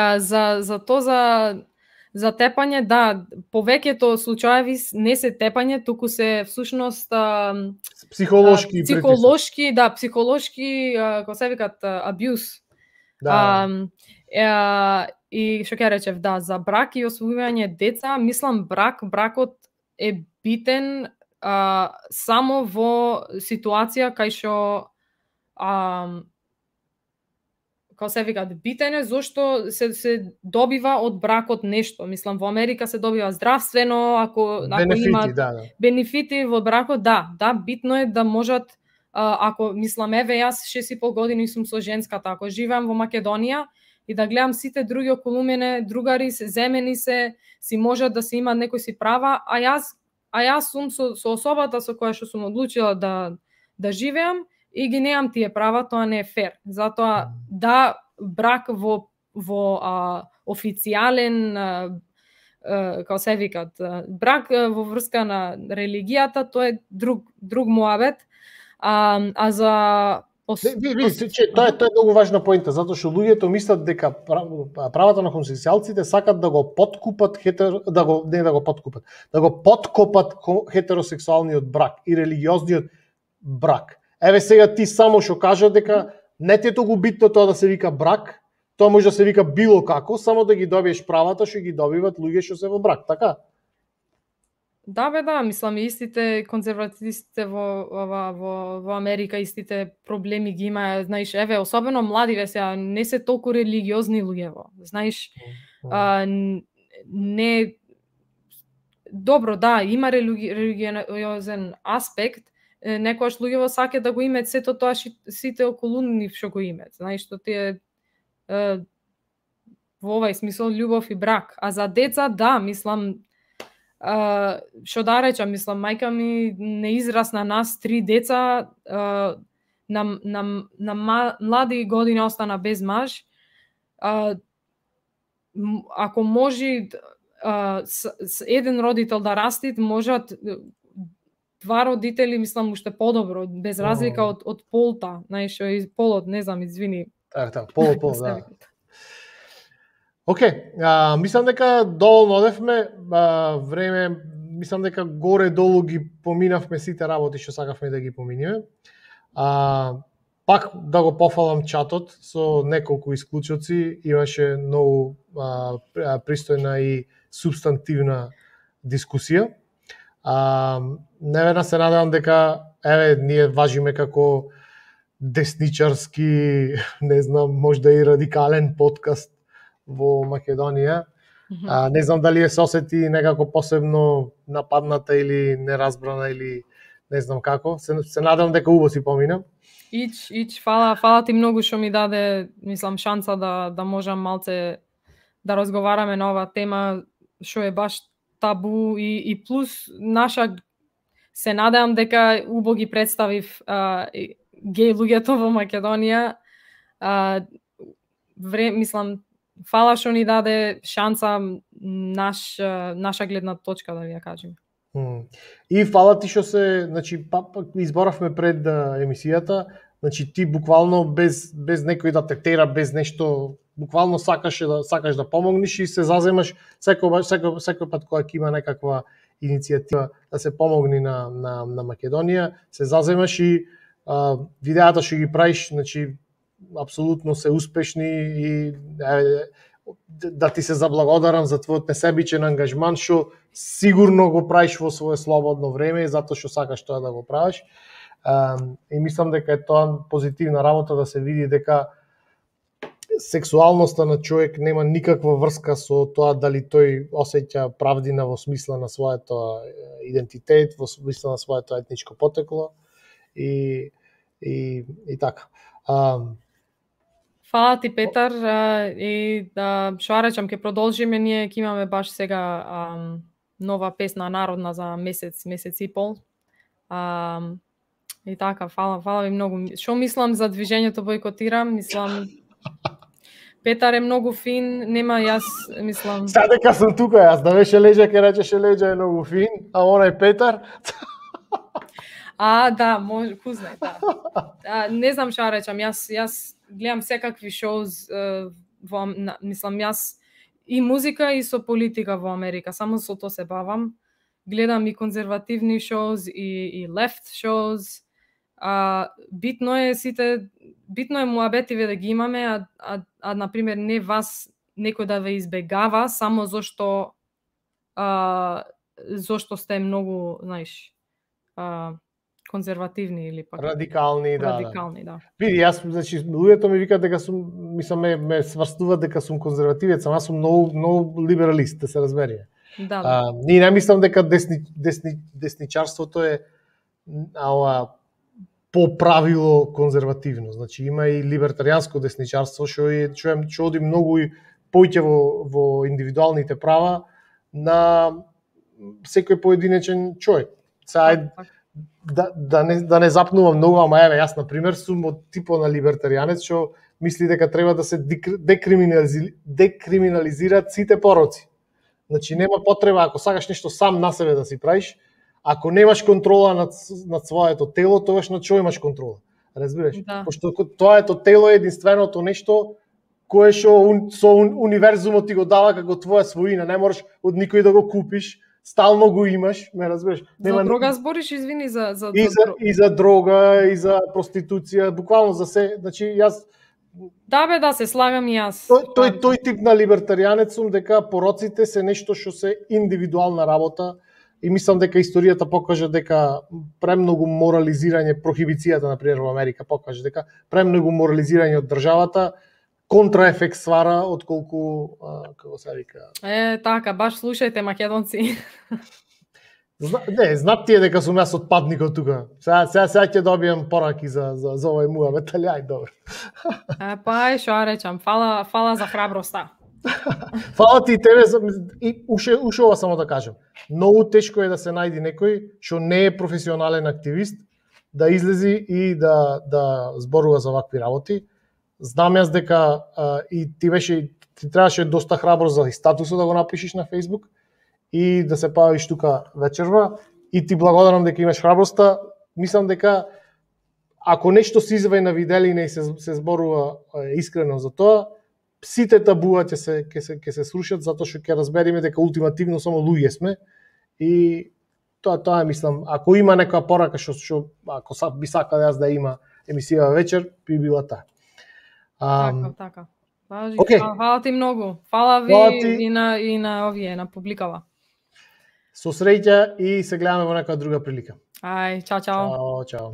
за тепање, да, повеќето случаеви не се тепање, туку се всушност психолошки, како се викат, абјуз. Да. И што ќе речев, да, за брак и освојување деца, мислам бракот е битен само во ситуација кај што како се викат, битен е зашто се добива од бракот нешто. Мислам, во Америка се добива здравствено, ако има бенефити во бракот, да, битно е да можат, ако мислам, еве јас 6,5 години сум со женската, ако живеам во Македонија и да гледам сите други околу мене, другари се земени се, си можат да се имаат некои си права, а јас сум со особата со која што сум одлучила да живеам и ги неам тие права, тоа не е фер. Затоа да, брак во официјален, како се викат, брак во врска на религијата, тоа е друг муабет. А за тоа е многу важна поинта, затоа што луѓето мислат дека правата на хомосексуалците сакат да го подкупат да го подкопат хетеросексуалниот брак и религиозниот брак. Еве сега ти само што кажа дека не ти е толку битно тоа да се вика брак, тоа може да се вика било како, само да ги добиеш правата што ги добиват луѓе што се во брак, така? Да, мислам, истите конзервативистите во Америка, истите проблеми ги има, знаеш, еве, особено младиве сега, не се толку религиозни луѓево, знаеш, не... Добро, да, има религиозен аспект, некојаш луѓево саке да го имаат сето тоа сите околу нив што го имаат, знаеш, што тие во овај смисол љубов и брак. А за деца, да, мислам, што да речам, мислам, мајка ми не израсна нас 3 деца, на млади години остана без маж. Ако може еден родител да растит, можат 2 родители, мислам, уште подобро, без разлика од полта, знаеш, полот, не знам, извини. Так, пол, да. Океј, мислам дека доволно одевме, време, мислам дека горе-долу ги поминавме сите работи што сакавме да ги поминиме. Пак да го пофалам чатот со неколку исклучоци, имаше многу пристојна и субстантивна дискусија. Невена се надевам дека, еве, ние важиме како десничарски, не знам, можда и радикален подкаст во Македонија. Не знам дали се осети некако посебно нападната или неразбрана или не знам како. Се надам дека убаво си помина. Ич, фала ти многу што ми даде, мислам, шанса да можам малце да разговараме на оваа тема што е баш табу и плюс наша, се надевам дека убаво ги представив геј луѓето во Македонија. Мислам, фала што ни даде шанса наша гледна точка, да ви ја кажем. И фала ти што се, значи, изборавме пред емисијата, значи ти буквално без некој да те тера, без нешто, буквално сакаш да помогнеш и се заземаш секој пат кога ќе има некаква иницијатива да се помогне на Македонија, се заземаш и видеата што ги правиш, значи апсолутно се успешни и да ти се заблагодарам за твојот несебичен ангажман што сигурно го правиш во свое слободно време и затоа што сакаш тоа да го правиш. И мислам дека е тоа позитивна работа да се види дека сексуалноста на човек нема никаква врска со тоа дали тој осеќа правдина во смисла на своето идентитет, во смисла на своето етничко потекло и така. Фала ти, Петар, и што речам, ќе продолжиме, ние ќе имаме баш сега нова песна народна за месец и пол. И така, фала ви многу. Што мислам за движењето бойкотирам? Мислам, Петар е многу фин, нема јас, мислам... Сега дека сум тука, јас да беше Леđa, ке речеше Леđa е многу фин, а онај Петар... Да, може, кузнај, да. Не знам што речам, јас гледам секакви шоуз, мислам, јас и музика и со политика во Америка, само со тоа се бавам. Гледам и конзервативни шоуз и лефт шоуз. Битно е муабетиве да ги имаме, на пример не вас некој да ве избегава само зошто сте многу, знаеш, конзервативни или пак радикални, да. Види, јас, значи, луѓето ми викаат дека сум, мислам, ме сврстуваат дека сум конзервативец, ама сум многу либералист, да се разбере. Да. Ние не мислам дека десничарството е по правило конзервативно. Значи има и либертаријанско десничарство што оди многу и поќе во индивидуалните права на секој поединечен човек. Сега да не запнувам многу, ама еве јас на пример сум од типот на либертаријанец што мисли дека треба да се декриминализираат сите пороци. Значи нема потреба ако сакаш нешто сам на себе да си правиш, ако немаш контрола над своето тело, тогаш на што имаш контрола? Разбираш? Да. Пошто твоето тело е единственото нешто кое што со универзумот ти го дава како твоја своина, не можеш од никој да го купиш, стално го имаш, ме разбираш? За дрога збориш, извини, за и за дрога, и за проституција, буквално за се, значи јас Да, се слагам и јас. Тој тип на либертаријанец сум дека пороците се нешто што се индивидуална работа и мислам дека историјата покажа дека премногу морализирање, прохибицијата например во Америка покажа дека премногу морализирање од државата контраефект ствара отколку како се вика. Така, баш слушајте македонци. Знаат тие дека сум јас отпадникот тука. Сега ќе добијам пораки за овој муабет, али ај добро. Што речам, фала за храброста. Фала ти тебе и уште ова само да кажам. Многу тешко е да се најди некој што не е професионален активист да излези и да зборува за вакви работи. Знам јас дека и ти требаше доста храбро за статусот да го напишеш на Facebook и да се појавиш тука вечерва и ти благодарам дека имаш храброста. Мислам дека ако нешто се извај на виделина и се зборува искрено за тоа, сите табуа ќе се срушат затоа што ќе разбериме дека ултимативно само луѓе сме и тоа мислам, ако има некоја порака што ако би сакал јас да има емисија вечер, би била таа. Така. Фала ти многу. Фала ви и на овие, на публикава. Со среќа и се гледаме во некоја друга прилика. Ај, чао. Чао.